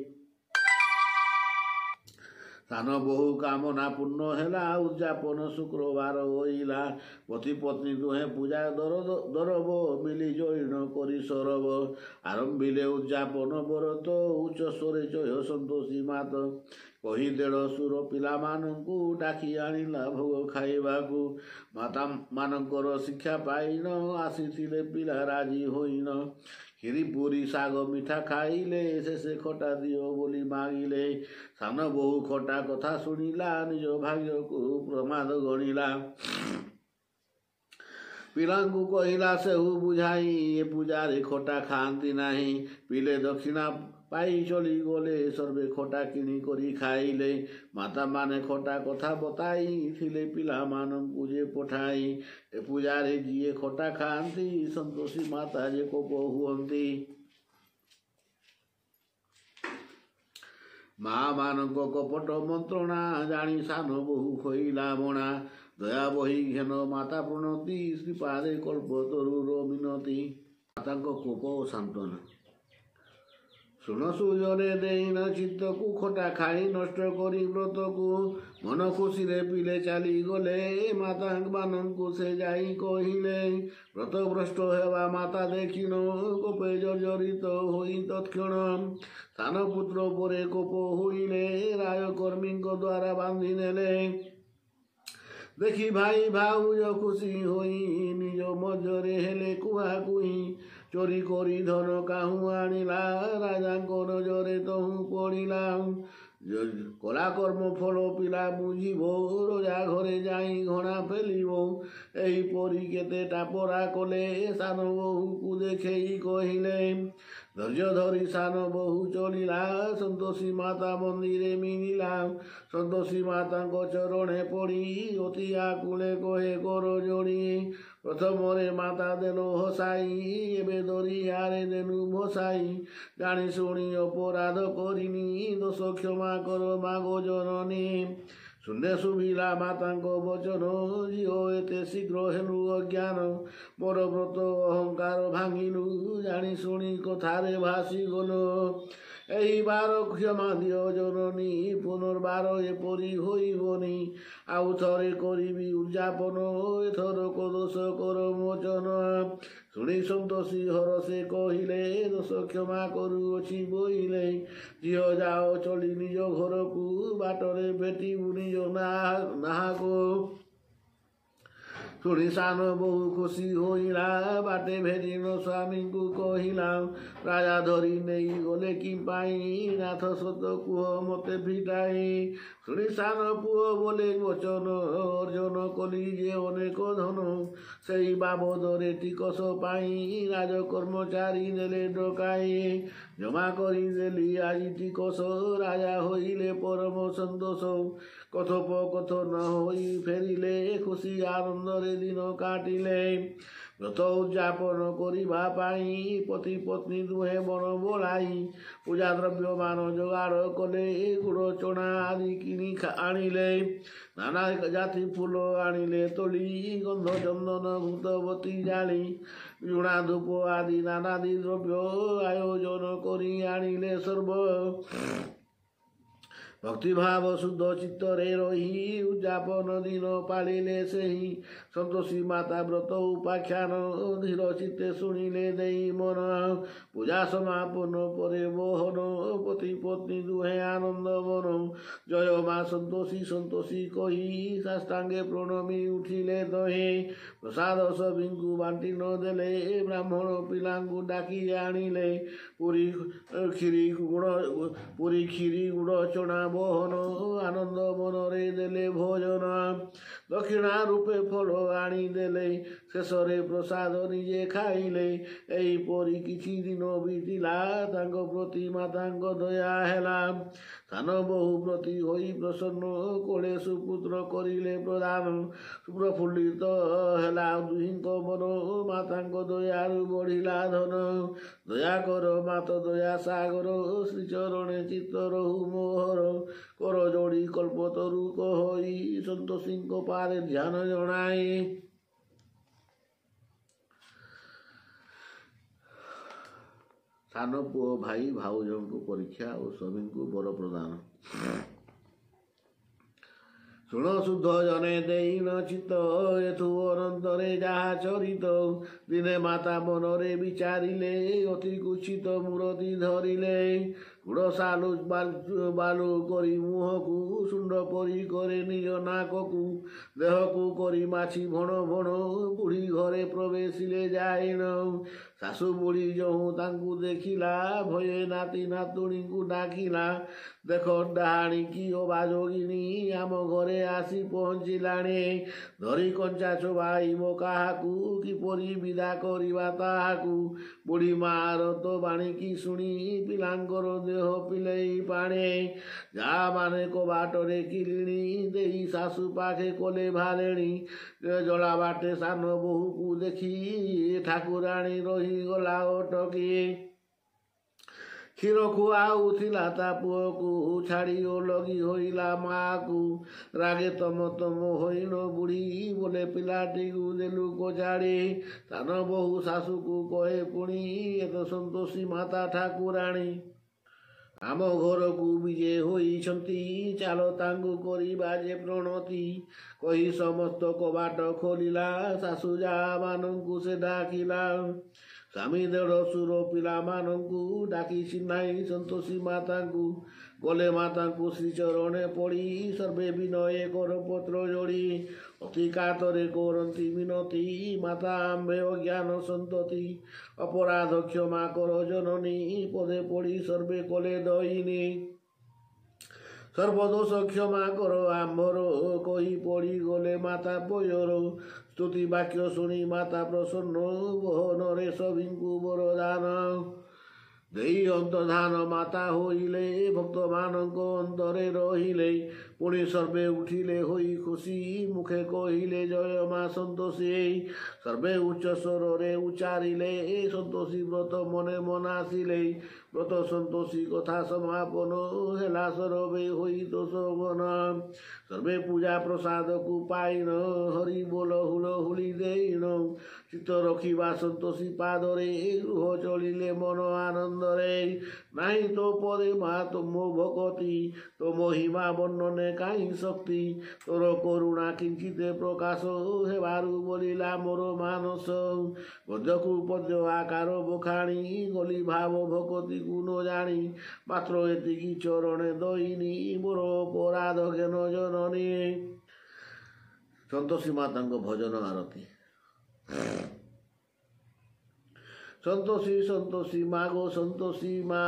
ସାନ ବୋହୂ କାମନା ପୂର୍ଣ୍ଣ ହେଲା, ଉଦଯାପନ ଶୁକ୍ରବାର ହୋଇଲା। ପତି ପତ୍ନୀ ଦୁହେଁ ପୂଜା ଦରବ ମିଲି ଜଇଣ କରି ସରବ। ଆରମ୍ଭିଲେ ଉଦଯାପନ ବ୍ରତ, ଉଚ୍ଚ ସ୍ୱରେ ଜୟ ସନ୍ତୋଷୀ ମାତ କହି ଦେଢ଼ଶୁର ପିଲାମାନଙ୍କୁ ଡାକି ଆଣିଲା ଭୋଗ ଖାଇବାକୁ। ମାତା ମାନଙ୍କର ଶିକ୍ଷା ପାଇନ ଆସିଥିଲେ ପିଲା ରାଜି ହୋଇନ। କ୍ଷୀରି ପୁରୀ ଶାଗ ମିଠା ଖାଇଲେ, ଶେଷେ ଖଟା ଦିଅ ବୋଲି ମାଗିଲେ। ସାନ ବୋହୂ ଖଟା କଥା ଶୁଣିଲା, ନିଜ ଭାଗ୍ୟକୁ ପ୍ରମାଦ ଗଣିଲା। ପିଲାଙ୍କୁ କହିଲା ସେହୁ ବୁଝାଇ, ଏ ପୂଜାରେ ଖଟା ଖାଆନ୍ତି ନାହିଁ। ପିଲେ ଦକ୍ଷିଣା ପାଇ ଚଳିଗଲେ, ସର୍ବେ ଖଟା କିଣି କରି ଖାଇଲେ। ମାତାମାନେ ଖଟା କଥା ବତାଇ ଥିଲେ ପିଲାମାନଙ୍କୁ ଯେ ପଠାଇ। ଏ ପୂଜାରେ ଯିଏ ଖଟା ଖାଆନ୍ତି, ସନ୍ତୋଷୀ ମାତା ଯେ କୋପ ହୁଅନ୍ତି। ମା ମାନଙ୍କ କପଟ ମନ୍ତ୍ରଣା ଜାଣି ସାନ ବୋହୂ ହୋଇଲା ମଣା। ଦୟା ବହି ଘେନ ମାତା ପ୍ରଣତି, ଶ୍ରୀପାଦେ କଳ୍ପତରୁର ମିନତି। ମାତାଙ୍କ କୋପ ଓ ସାନ୍ତ୍ୱନା। ଶୁଣ ସୁଜନେ ଦେଇନ ଚିତ୍ତକୁ, ଖଟା ଖାଇ ନଷ୍ଟ କରି ବ୍ରତକୁ। ମନ ଖୁସିରେ ପିଲେ ଚାଲିଗଲେ, ମାତା ମାନଙ୍କୁ ସେ ଯାଇ କହିଲେ। ବ୍ରତ ଭ୍ରଷ୍ଟ ହେବା ମାତା ଦେଖିଣ, କୋପେ ଜର୍ଜରିତ ହୋଇ ତତ୍କ୍ଷଣ। ସାନ ପୁତ୍ର ଉପରେ କୋପ ହୋଇଲେ, ରାଜକର୍ମୀଙ୍କ ଦ୍ୱାରା ବାନ୍ଧି ନେଲେ। ଦେଖି ଭାଇ ଭାଉଜ ଖୁସି ହୋଇ ନିଜ ମଧ୍ୟରେ ହେଲେ କୁହାକୁହି। ଚୋରି କରି ଧନ କାହୁଁ ଆଣିଲା, ରାଜାଙ୍କ ନଜରେ ତହୁଁ ପଡ଼ିଲା। କଲା କର୍ମ ଫଳ ପିଲା ବୁଝିବ, ରଜା ଘରେ ଯାଇ ଘଣା ଫେଲିବ। ଏହିପରି କେତେ ଟାପରା କଲେ, ସାନ ବୋହୂକୁ ଦେଖେଇ କହିଲେ। ଧୈର୍ଯ୍ୟ ଧରି ସାନ ବୋହୂ ଚଳିଲା, ସନ୍ତୋଷୀ ମାତା ମନ୍ଦିରେ ମିଳିଲା। ସନ୍ତୋଷୀ ମାତାଙ୍କ ଚରଣେ ପଡ଼ି ଅତି ଆକୁଳେ କହେ କର ଯୋଡ଼ି। ପ୍ରଥମରେ ମାତା ଦେଲ ହସାଇ, ଏବେ ଦରିଆରେ ଦେଲୁ ଭସାଇ। ଜାଣି ଶୁଣି ଅପରାଧ କରିନି, ଦୋଷ କ୍ଷମା କର ମାଗୋ ଜନନୀ। ଶୂନ୍ୟ ଶୁଭିଲା ମାତାଙ୍କ ବଚନ, ଝିଅ ଏତେ ଶୀଘ୍ର ହେଲୁ ଅଜ୍ଞାନ। ମୋର ବ୍ରତ ଅହଙ୍କାର ଭାଙ୍ଗିଲୁ, ଜାଣି ଶୁଣି କଥାରେ ଭାସିଗଲୁ। ଏହି ବାର କ୍ଷମା ଦିଅ ଜନନୀ, ପୁନର୍ବାର ଏପରି ହୋଇବନି। ଆଉ ଥରେ କରିବି ଉଦଯାପନ, ଏଥରକ ଦୋଷ କର ମୋଚନ। ଶୁଣି ସନ୍ତୋଷୀ ହରସେ କହିଲେ, ଦୋଷ କ୍ଷମା କରୁଅଛି ବୋଇଲେ। ଝିଅ ଯାଅ ଚଳି ନିଜ ଘରକୁ, ବାଟରେ ଭେଟିବୁ ନିଜ ନାହାକୁ। ଶୁଣି ସାନ ବୋହୂ ଖୁସି ହୋଇଲା, ବାଟେ ଭେଟିନ ସ୍ୱାମୀଙ୍କୁ କହିଲା। ରାଜା ଧରି ନେଇ ଗଲେ କି ପାଇଁ, ନାଥ ସତ କୁହ ମତେ ଫିଟାଇ। ଶୁଣି ସାନ ପୁଅ ବୋଲେ ବଚନ, ଅର୍ଜନ କଲି ଯେ ଅନେକ ଧନ। ସେଇ ବାବଦରେ ଟିକସ ପାଇଁ ରାଜ କର୍ମଚାରୀ ନେଲେ ଡକାଇ। ଜମା କରିଦେଲି ଆଜି ଟିକସ, ରାଜା ହୋଇଲେ ପରମ ସନ୍ତୋଷ। କଥୋପକଥନ ହୋଇ ଫେରିଲେ, ଖୁସି ଆନନ୍ଦରେ ଦିନ କାଟିଲେ। ବ୍ରତ ଉଦଯାପନ କରିବା ପାଇଁ ପତି ପତ୍ନୀ ଦୁହେଁ ବଣ ବୋଳାଇ ପୂଜା ଦ୍ରବ୍ୟମାନ ଯୋଗାଡ଼ କଲେ। ଗୁଡ଼ ଚଣା ଆଦି କିଣି ଆଣିଲେ, ନାନା ଜାତି ଫୁଲ ଆଣିଲେ ତୋଳି। ଗନ୍ଧ ଚନ୍ଦନ ଘୃତବତୀ ଜାଳି, ଝୁଣା ଧୂପ ଆଦି ନାନାଦି ଦ୍ରବ୍ୟ ଆୟୋଜନ କରି ଆଣିଲେ ସର୍ବ। ଭକ୍ତିଭାବ ଶୁଦ୍ଧ ଚିତ୍ତରେ ରହି ଉଦ୍ଯାପନ ଦିନ ପାଳିଲେ ସେହି। ସନ୍ତୋଷୀ ମାତା ବ୍ରତ ଉପାଖ୍ୟାନ ଧୀର ଚିତ୍ତେ ଶୁଣିଲେ ଦେଇ ମନ। ପୂଜା ସମାପନ ପରେ ବହନ ପତି ପତ୍ନୀ ଦୁହେଁ ଆନନ୍ଦ ମନ। ଜୟ ମା ସନ୍ତୋଷୀ ସନ୍ତୋଷୀ କହି ସାଷ୍ଟାଙ୍ଗେ ପ୍ରଣମୀ ଉଠିଲେ ଦହେ। ପ୍ରସାଦ ସଭିଙ୍କୁ ବାଣ୍ଟି ନ ଦେଲେ, ବ୍ରାହ୍ମଣ ପିଲାଙ୍କୁ ଡାକି ଆଣିଲେ। ପୁରୀ କ୍ଷୀରି ଗୁଡ଼ ପୁରୀ କ୍ଷୀରି ଗୁଡ଼ ଚଣା ବହନ ଆନନ୍ଦ ମନରେ ଦେଲେ ଭୋଜନ। ଦକ୍ଷିଣା ରୂପେ ଫଳ ଆଣିଦେଲେ, ଶେଷରେ ପ୍ରସାଦ ନିଜେ ଖାଇଲେ। ଏହିପରି କିଛି ଦିନ ବିତିଲା, ତାଙ୍କ ପ୍ରତି ମାତାଙ୍କ ଦୟା ହେଲା। ସାନ ବୋହୂ ପ୍ରତି ହୋଇ ପ୍ରସନ୍ନ, କୋଳେ ସୁପୁତ୍ର କରିଲେ ପ୍ରଦାନ। ପ୍ରଫୁଲ୍ଲିତ ହେଲା ଦୁହିଁଙ୍କ ମନ, ମାତାଙ୍କ ଦୟାରୁ ବଢ଼ିଲା ଧନ। ଦୟା କର ମାତ ଦୟା ସାଗର, ଶ୍ରୀଚରଣେ ଚିତ୍ତ ରହୁ ମୋହର। କର ଯୋଡ଼ି କଳ୍ପତରୁ କହଇ, ସନ୍ତୋଷୀଙ୍କ ପାଦେ ଧ୍ୟାନ ଜଣାଇ। ସାନ ପୁଅ ଭାଇ ଭାଉଜଙ୍କୁ ପରୀକ୍ଷା ଓ ସ୍ୱାମୀଙ୍କୁ ବର ପ୍ରଦାନ। ଶୁଣ ଶୁଦ୍ଧ ଜନେ ଦେଇନ ଚିତ୍ତ, ଏଥୁ ଅନନ୍ତରେ ଯାହା ଚରିତ। ଦିନେ ମାତା ମନରେ ବିଚାରିଲେ, ଅତି କୁତ୍ସିତ ମୂରତି ଧରିଲେ। ଗୁଡ଼ ସାଲୁ ବାଲୁ କରି ମୁହଁକୁ, ଶୁଣ୍ଡ ପରି କରେ ନିଜ ନାକକୁ। ଦେହକୁ କରି ମାଛି ଭଣ ଭଣ, ବୁଢ଼ୀ ଘରେ ପ୍ରବେଶିଲେ ଯାଇଣ। ଶାଶୁ ବୁଢ଼ୀ ଯହୁଁ ତାଙ୍କୁ ଦେଖିଲା, ଭୟେ ନାତି ନାତୁଣୀଙ୍କୁ ଡାକିଲା। ଦେଖ ଡାହାଣୀ କି ଅବାଯୋଗିନୀ, ଆମ ଘରେ ଆସି ପହଞ୍ଚିଲାଣି। ଧରି କଞ୍ଚା ଚୋବାଇବ କାହାକୁ, କିପରି ବିଦା କରିବା ତାହାକୁ। ବୁଢ଼ୀ ମାର ତ ବାଣୀକି ଶୁଣି, ପିଲାଙ୍କର ଦେହ ପିଲେଇ ପାଣି। ଯାମାନେ କବାଟରେ କିଲିଣି ଦେଇ, ଶାଶୁ ପାଖେ କଲେ ଭାଲେଣି। ଜଳା ବାଟେ ସାନ ବୋହୂକୁ ଦେଖି, ଠାକୁରାଣୀ ରହିଗଲା ଅଟକି। କ୍ଷୀର ଖୁଆଉଥିଲା ତା ପୁଅକୁ, ଛାଡ଼ି ଓଲଗି ହୋଇଲା ମାଆକୁ। ରାଗେ ତମ ତମ ହୋଇନ ବୁଢ଼ୀ, ବୋଲେ ପିଲାଟିକୁ ଦେଲୁ କଚାଡ଼ି। ସାନ ବୋହୂ ଶାଶୁକୁ କହେ ପୁଣି, ଏ ତ ସନ୍ତୋଷୀ ମାତା ଠାକୁରାଣୀ। ଆମ ଘରକୁ ବିଜେ ହୋଇଛନ୍ତି, ଚାଲ ତାଙ୍କୁ କରିବା ଯେ ପ୍ରଣତି। କହି ସମସ୍ତ କବାଟ ଖୋଲିଲା, ଶାଶୁ ଯାମାନଙ୍କୁ ସେ ଡାକିଲା। ସ୍ୱାମୀ ଦେଢ଼ଶୁର ପିଲାମାନଙ୍କୁ ଡାକି ଚିହ୍ନାଇ ସନ୍ତୋଷୀ ମାତାଙ୍କୁ। ଗଲେ ମାତାଙ୍କୁ ଶ୍ରୀଚରଣେ ପଡ଼ି, ସର୍ବେ ବିନୟ କରପତ୍ର ଯୋଡ଼ି। ଅତି କାତରେ କରନ୍ତି ମିନତି, ମାତା ଆମ୍ଭେ ଅଜ୍ଞାନ ସନ୍ତତି। ଅପରାଧ କ୍ଷମା କର ଜନନୀ, ପଦେ ପଡ଼ି ସର୍ବେ କଲେ ଦଇନି। ସର୍ବଦୋଷ କ୍ଷମା କର ଆମ୍ଭର, କହି ପଡ଼ିଗଲେ ମାତା ପୟର। ସ୍ତୁତି ବାକ୍ୟ ଶୁଣି ମାତା ପ୍ରସନ୍ନ, ବହନରେ ସଭିଙ୍କୁ ବରଦାନ ଦେଇ ଅନ୍ତର୍ଧାନ ମାତା ହୋଇଲେ। ଭକ୍ତମାନଙ୍କ ଅନ୍ତରେ ରହିଲେ। ପୁଣି ସର୍ବେ ଉଠିଲେ ହୋଇ ଖୁସି, ମୁଖେ କହିଲେ ଜୟ ମା ସନ୍ତୋଷୀ। ସର୍ବେ ଉଚ୍ଚ ସ୍ୱରରେ ଉଚ୍ଚାରିଲେ, ସନ୍ତୋଷୀ ବ୍ରତ ମନେ ମନାସିଲେ। ବ୍ରତ ସନ୍ତୋଷୀ କଥା ସମାପନ ହେଲା, ସରବେ ହୋଇ ଦୋଷ ମନ। ସର୍ବେ ପୂଜା ପ୍ରସାଦକୁ ପାଇଣ, ହରି ବୋଲ ହୁଳ ହୁଳି ଦେଇଣ। ଚିତ୍ତ ରଖିବା ସନ୍ତୋଷୀ ପାଦରେ, ଗୃହ ଚଳିଲେ ମନ ଆନନ୍ଦରେ। ନାହିଁ ତୋ ପରେ ମା ତୁମ ଭକତି, ତୋ ମହିମା ବର୍ଣ୍ଣନେ କାହିଁ ଶକ୍ତି। ତୋର କରୁଣା କିଞ୍ଚିତେ ପ୍ରକାଶ ହେବାରୁ ବୋଲିଲା ମୋର ମାନସ। ଗଦ୍ୟକୁ ପଦ୍ୟ ଆକାର ବଖାଣି, ଗଲି ଭାବ ଭକତିକୁ ନ ଜାଣି। ମାତ୍ର ଏତିକି ଚରଣେ ଦଇନି, ମୋର ଅପରାଧ ଜ୍ଞାନ ଜନନୀ। ସନ୍ତୋଷୀ ମାତାଙ୍କ ଭଜନ ଆରତୀ। ସନ୍ତୋଷୀ ସନ୍ତୋଷୀ ମାଗୋ ସନ୍ତୋଷୀ ମା,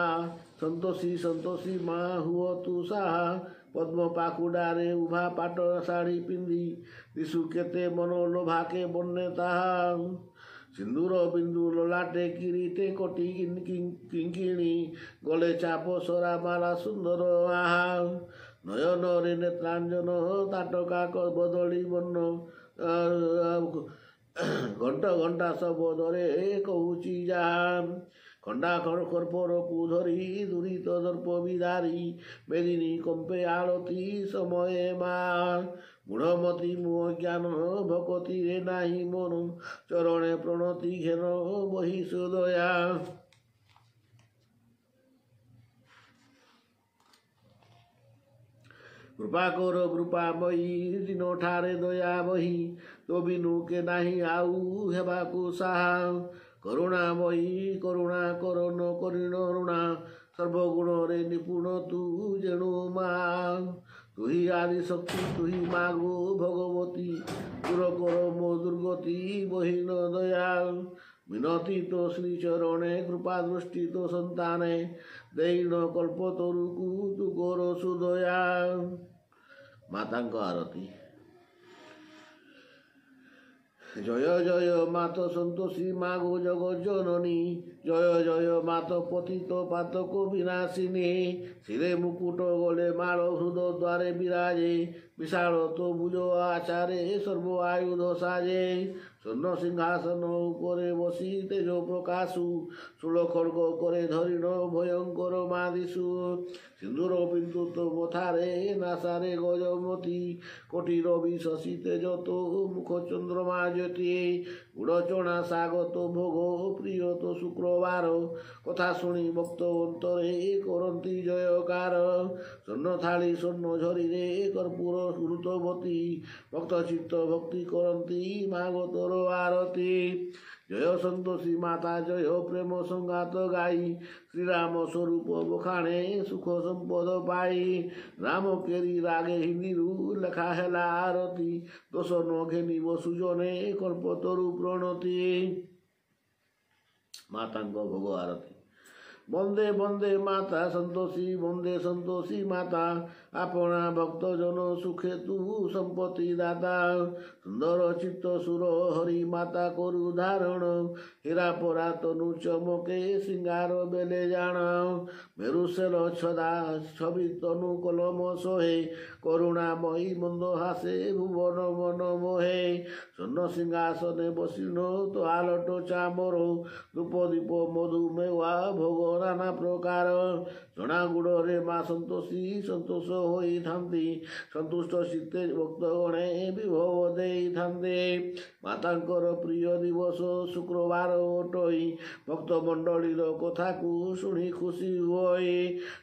ସନ୍ତୋଷୀ ସନ୍ତୋଷୀ ମା ହୁଅ ତୁ ସାହା। ପଦ୍ମ ପାଖୁଡ଼ାରେ ଉଭା ପାଟ ଶାଢ଼ୀ ପିନ୍ଧି, ଦିଶୁ କେତେ ମନ ଲୋଭାକେ ବର୍ଣ୍ଣେ ତାହା। ସିନ୍ଦୁର ବିନ୍ଦୁ ଲଲାଟେ କିରୀଟେ କଟି କିଙ୍କିଣୀ, ଗଲେ ଚାପ ସରା ମାଲା ସୁନ୍ଦର ଆହା। ନୟନରେ ନେତ୍ରାଞ୍ଜନ ତାଟକା ବଦଳି ବର୍ଣ୍ଣ, ଘଣ୍ଟ ଘଣ୍ଟା ଶବଦରେ କହୁଛି ଯାହା। ଖଣ୍ଡା କର୍ପୂରକୁ ଧରି ଦୁରିତ ଦର୍ପ ବିଦାରି, ମେଦିନୀ କମ୍ପେ ଆଳତି ସମୟେ ମା। ମୂଢ଼ମତି ମୁଁ ଅଜ୍ଞାନ ଭକତିରେ ନାହିଁ ମନ, ଚରଣେ ପ୍ରଣତି ଘେନ ବହି ସୁଦୟା। କୃପା କର କୃପାମୟୀ ଦିନ ଠାରେ ଦୟା ବହି, ତୋ ବିନୁ କେ ନାହିଁ ଆଉ ହେବାକୁ ସାହା। କରୁଣାମୟୀ କରୁଣା କର ନ କରିଣ ଋଣା, ସର୍ବଗୁଣରେ ନିପୁଣ ତୁ ଯେଣୁ ମା। ତୁହି ଆଦି ଶକ୍ତି ତୁହି ମାଗୋ ଭଗବତୀ, ଦୂର କର ମୋ ଦୁର୍ଗତି ବହିନ ଦୟା। ମିନତି ତୋ ଶ୍ରୀ ଚରଣେ କୃପା ଦୃଷ୍ଟି ତୋ ସନ୍ତାନେ, ଦେଇନ କଳ୍ପ ତରୁକୁ ତୁ କର ସୁଦୟା। ମାତାଙ୍କ ଆରତୀ। ଜୟ ଜୟ ମାତ ସନ୍ତୋଷୀ ମାଗୋ ଜଗତ ଜନନୀ, ଜୟ ଜୟ ମାତ ପତିତ ପାତକ ବିନାଶିନୀ। ଶିରେ ମୁକୁଟ ଗଲେ ମାଳ ହୃଦ ଦ୍ୱାରେ ବିରାଜେ, ବିଶାଳ ତୋ ଭୁଜ ଆଚାରେ ସର୍ବ ଆୟୁଧ ସାଜେ। ସ୍ୱର୍ଣ୍ଣ ସିଂହାସନ ଉପରେ ବସି ତେଜ ପ୍ରକାଶୁ, ଶୂଳ ଖଡ଼ଗ କରେ ଧରିଣ ଭୟଙ୍କର ମାଦିଶୁ। ସିନ୍ଦୁର ବିନ୍ଦୁ ତୋ ମଥାରେ ନାସାରେ ଗଜମତି, କୋଟି ରବି ଶଶୀ ତେଜ ତୋ ମୁଖ ଚନ୍ଦ୍ରମା ଜ୍ୟୋତି। ଗୁଡ଼ ଚଣା ଶାଗ ତୋ ଭୋଗ ପ୍ରିୟ ତୋ ଶୁକ୍ରବାର, କଥା ଶୁଣି ଭକ୍ତ ଅନ୍ତରେ କରନ୍ତି ଜୟକାର। ସ୍ୱର୍ଣ୍ଣ ଥାଳି ସ୍ୱର୍ଣ୍ଣ ଝରିରେ କର୍ପୂର ଘୃତବତୀ, ଭକ୍ତ ଚିତ୍ତ ଭକ୍ତି କରନ୍ତି ମାଗ ତୋର ଆରତୀ। ଜୟ ସନ୍ତୋଷୀ ମାତା ଜୟ ପ୍ରେମ ସଙ୍ଗାତ ଗାଇ, ଶ୍ରୀରାମ ସ୍ୱରୂପ ବଖାଣେ ସୁଖ ସମ୍ପଦ ପାଇ। ରାମ କେରି ରାଗେ ହିନ୍ଦୀରୁ ଲେଖା ହେଲା ଆରତୀ, ଦୋଷ ନ ଘେନିବ ସୁଜନେ କଳ୍ପତରୁ ପ୍ରଣତି। ମାତାଙ୍କ ଭୋଗ ଆରତୀ। ବନ୍ଦେ ବନ୍ଦେ ମାତା ସନ୍ତୋଷୀ, ବନ୍ଦେ ସନ୍ତୋଷୀ ମାତା, ଆପଣା ଭକ୍ତ ଜନ ସୁଖେ ତୁ ସମ୍ପତ୍ତି ଦାତା। ସୁନ୍ଦର ଚିତ୍ତ ସୁର ହରି ମାତା କରୁ ଧାରଣ, ହୀରା ପରା ତନୁ ଚମକେ ସିଙ୍ଗାର ବେଲେ ଜାଣ। ମେରୁସେଲ ଛଦା ଛବି ତନୁ କଲମ ସୋହେ, କରୁଣାମୟୀ ମନ୍ଦ ହାସେ ଭୁବନ ମନ ମୋହେ। ସ୍ୱର୍ଣ୍ଣ ସିଂହାସନେ ବସିଣ ତ ଆଲଟ ଚାମର, ଧୂପ ଦୀପ ମଧୁ ମେୱା ଭୋଗ ନାନା ପ୍ରକାର। ଚଣା ଗୁଡ଼ରେ ମା ସନ୍ତୋଷୀ ସନ୍ତୋଷ ହୋଇଥାନ୍ତି, ସନ୍ତୁଷ୍ଟ ଚିତ୍ତେ ଭକ୍ତଗଣେ ବିଭବ ଦେଇଥାନ୍ତି। ମାତାଙ୍କର ପ୍ରିୟ ଦିବସ ଶୁକ୍ରବାର ଅଟଇ, ଭକ୍ତ ମଣ୍ଡଳୀର କଥାକୁ ଶୁଣି ଖୁସି ହୁଅଇ।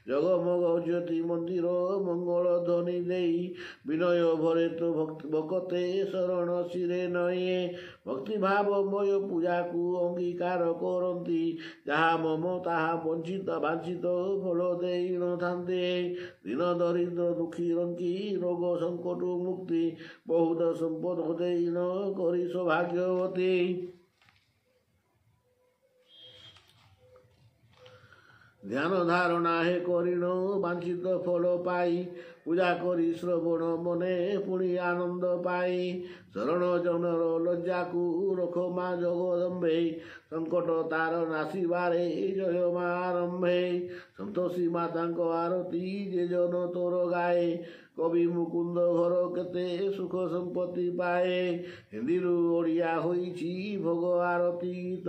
ଜଗମଗ ଜ୍ୟୋତି ମନ୍ଦିର ମଙ୍ଗଳ ଧ୍ୱନି ଦେଇ, ବିନୟ ଭରେ ତ ଭକତେ ଶରଣ ଶିରେ ନଇଁ। ଭକ୍ତିଭାବମୟ ପୂଜାକୁ ଅଙ୍ଗୀକାର କରନ୍ତି, ଯାହା ମମ ତାହା ବଞ୍ଚିତ ବାଞ୍ଛିତ ଫଳ ଦେଇ ନଥାନ୍ତି। ଦୀନ ଦରିଦ୍ର ଦୁଃଖୀ ରଙ୍କି ରୋଗ ସଙ୍କଟ ମୁକ୍ତି, ବହୁତ ସମ୍ପଦ ଦେଇନ କରି ସୌଭାଗ୍ୟବତୀ। ଧ୍ୟାନ ଧାରଣା ହେ କରିଣ ବାଞ୍ଛିତ ଫଳ ପାଇ, ପୂଜା କରି ଶ୍ରବଣ ମନେ ପୁଣି ଆନନ୍ଦ ପାଇ। ଶରଣ ଜନର ଲଜ୍ଜାକୁ ରଖ ମା ଜଗଦମ୍ବେ, ସଙ୍କଟ ତାର ନାଶିବାରେ ଜୟ ମା ଆରମ୍ଭେ। ସନ୍ତୋଷୀ ମାତାଙ୍କ ଆରତୀ ଯେ ଜନ ତୋର ଗାଏ, କବି ମୁକୁନ୍ଦ ଘର କେତେ ସୁଖ ସମ୍ପତ୍ତି ପାଏ। ହିନ୍ଦୀରୁ ଓଡ଼ିଆ ହୋଇଛି ଭୋଗ ଆରତୀ ଗୀତ,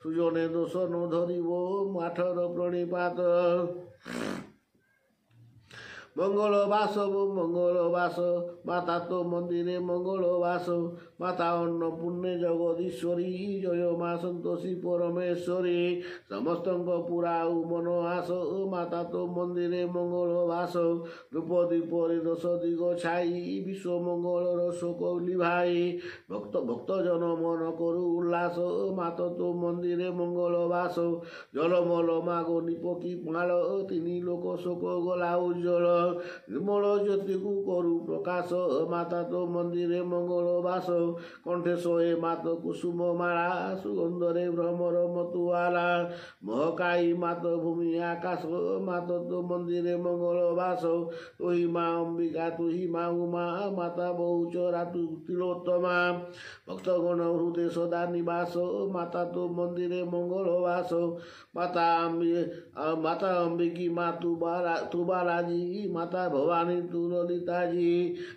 ସୁଜନେ ଦୋଷ ନ ଧରିବ ମାଠର ପ୍ରଣିପାତ। ମଙ୍ଗଳ ବାସ ମଙ୍ଗଳ ବାସ ମାତା ତୋ ମନ୍ଦିରେ ମଙ୍ଗଳ ବାସ, ମାତା ଅନ୍ନପୂର୍ଣ୍ଣେ ଜଗଦୀଶ୍ୱରୀ ଜୟ ମା ସନ୍ତୋଷୀ ପରମେଶ୍ୱରୀ। ସମସ୍ତଙ୍କ ପୁରା ଆଉ ମନ ଆସ, ମାତା ତୋ ମନ୍ଦିରେ ମଙ୍ଗଳ ବାସ। ଧୂପ ଦୀପରେ ଦଶ ଦିଗ ଛାଇ, ବିଶ୍ୱ ମଙ୍ଗଳର ଶୋକ ଲିଭାଇ। ଭକ୍ତ ଭକ୍ତଜନ ମନ କରୁ ଉଲ୍ଲାସ, ମାତା ତୋ ମନ୍ଦିରେ ମଙ୍ଗଳ ବାସ। ଜଲମଲ ମାଗୋ ନିପକି ମାଳ, ତିନି ଲୋକ ଶୋକ ଗଲା ଉଜ୍ଜଳ। ନିର୍ମଳ ଜ୍ୟୋତିକୁ କରୁ ପ୍ରକାଶ, ମାତା ତୋ ମନ୍ଦିରେ ମଙ୍ଗଳ ବାସ। କଣ୍ଠେ ଶୋଏ ମାତ କୁସୁମ ମାଳା, ସୁଗନ୍ଧରେ ଭ୍ରମର ମତୁଆଲା। ମହକାଇ ମାତ ଭୂମି ଆକାଶ, ମାତ ତୋ ମନ୍ଦିରେ ମଙ୍ଗଳ ବାସ। ତୁହି ମା ଅମ୍ବିକା ତୁହି ମା ଉମା, ମାତା ବହୁଚରା ତୁ ତିଳୋତ୍ତମା। ଭକ୍ତଗଣ ହୃଦୟ ସଦା ନିବାସ, ମାତା ତୋ ମନ୍ଦିରେ ମଙ୍ଗଳ ବାସ। ମାତା ମାତା ଅମ୍ବିକୀ ମା ତୁ ବାଲା ତୁ ବାଲାଜୀ, ମାତା ଭବାନୀ ତୁ ଲଲିତାଜୀ।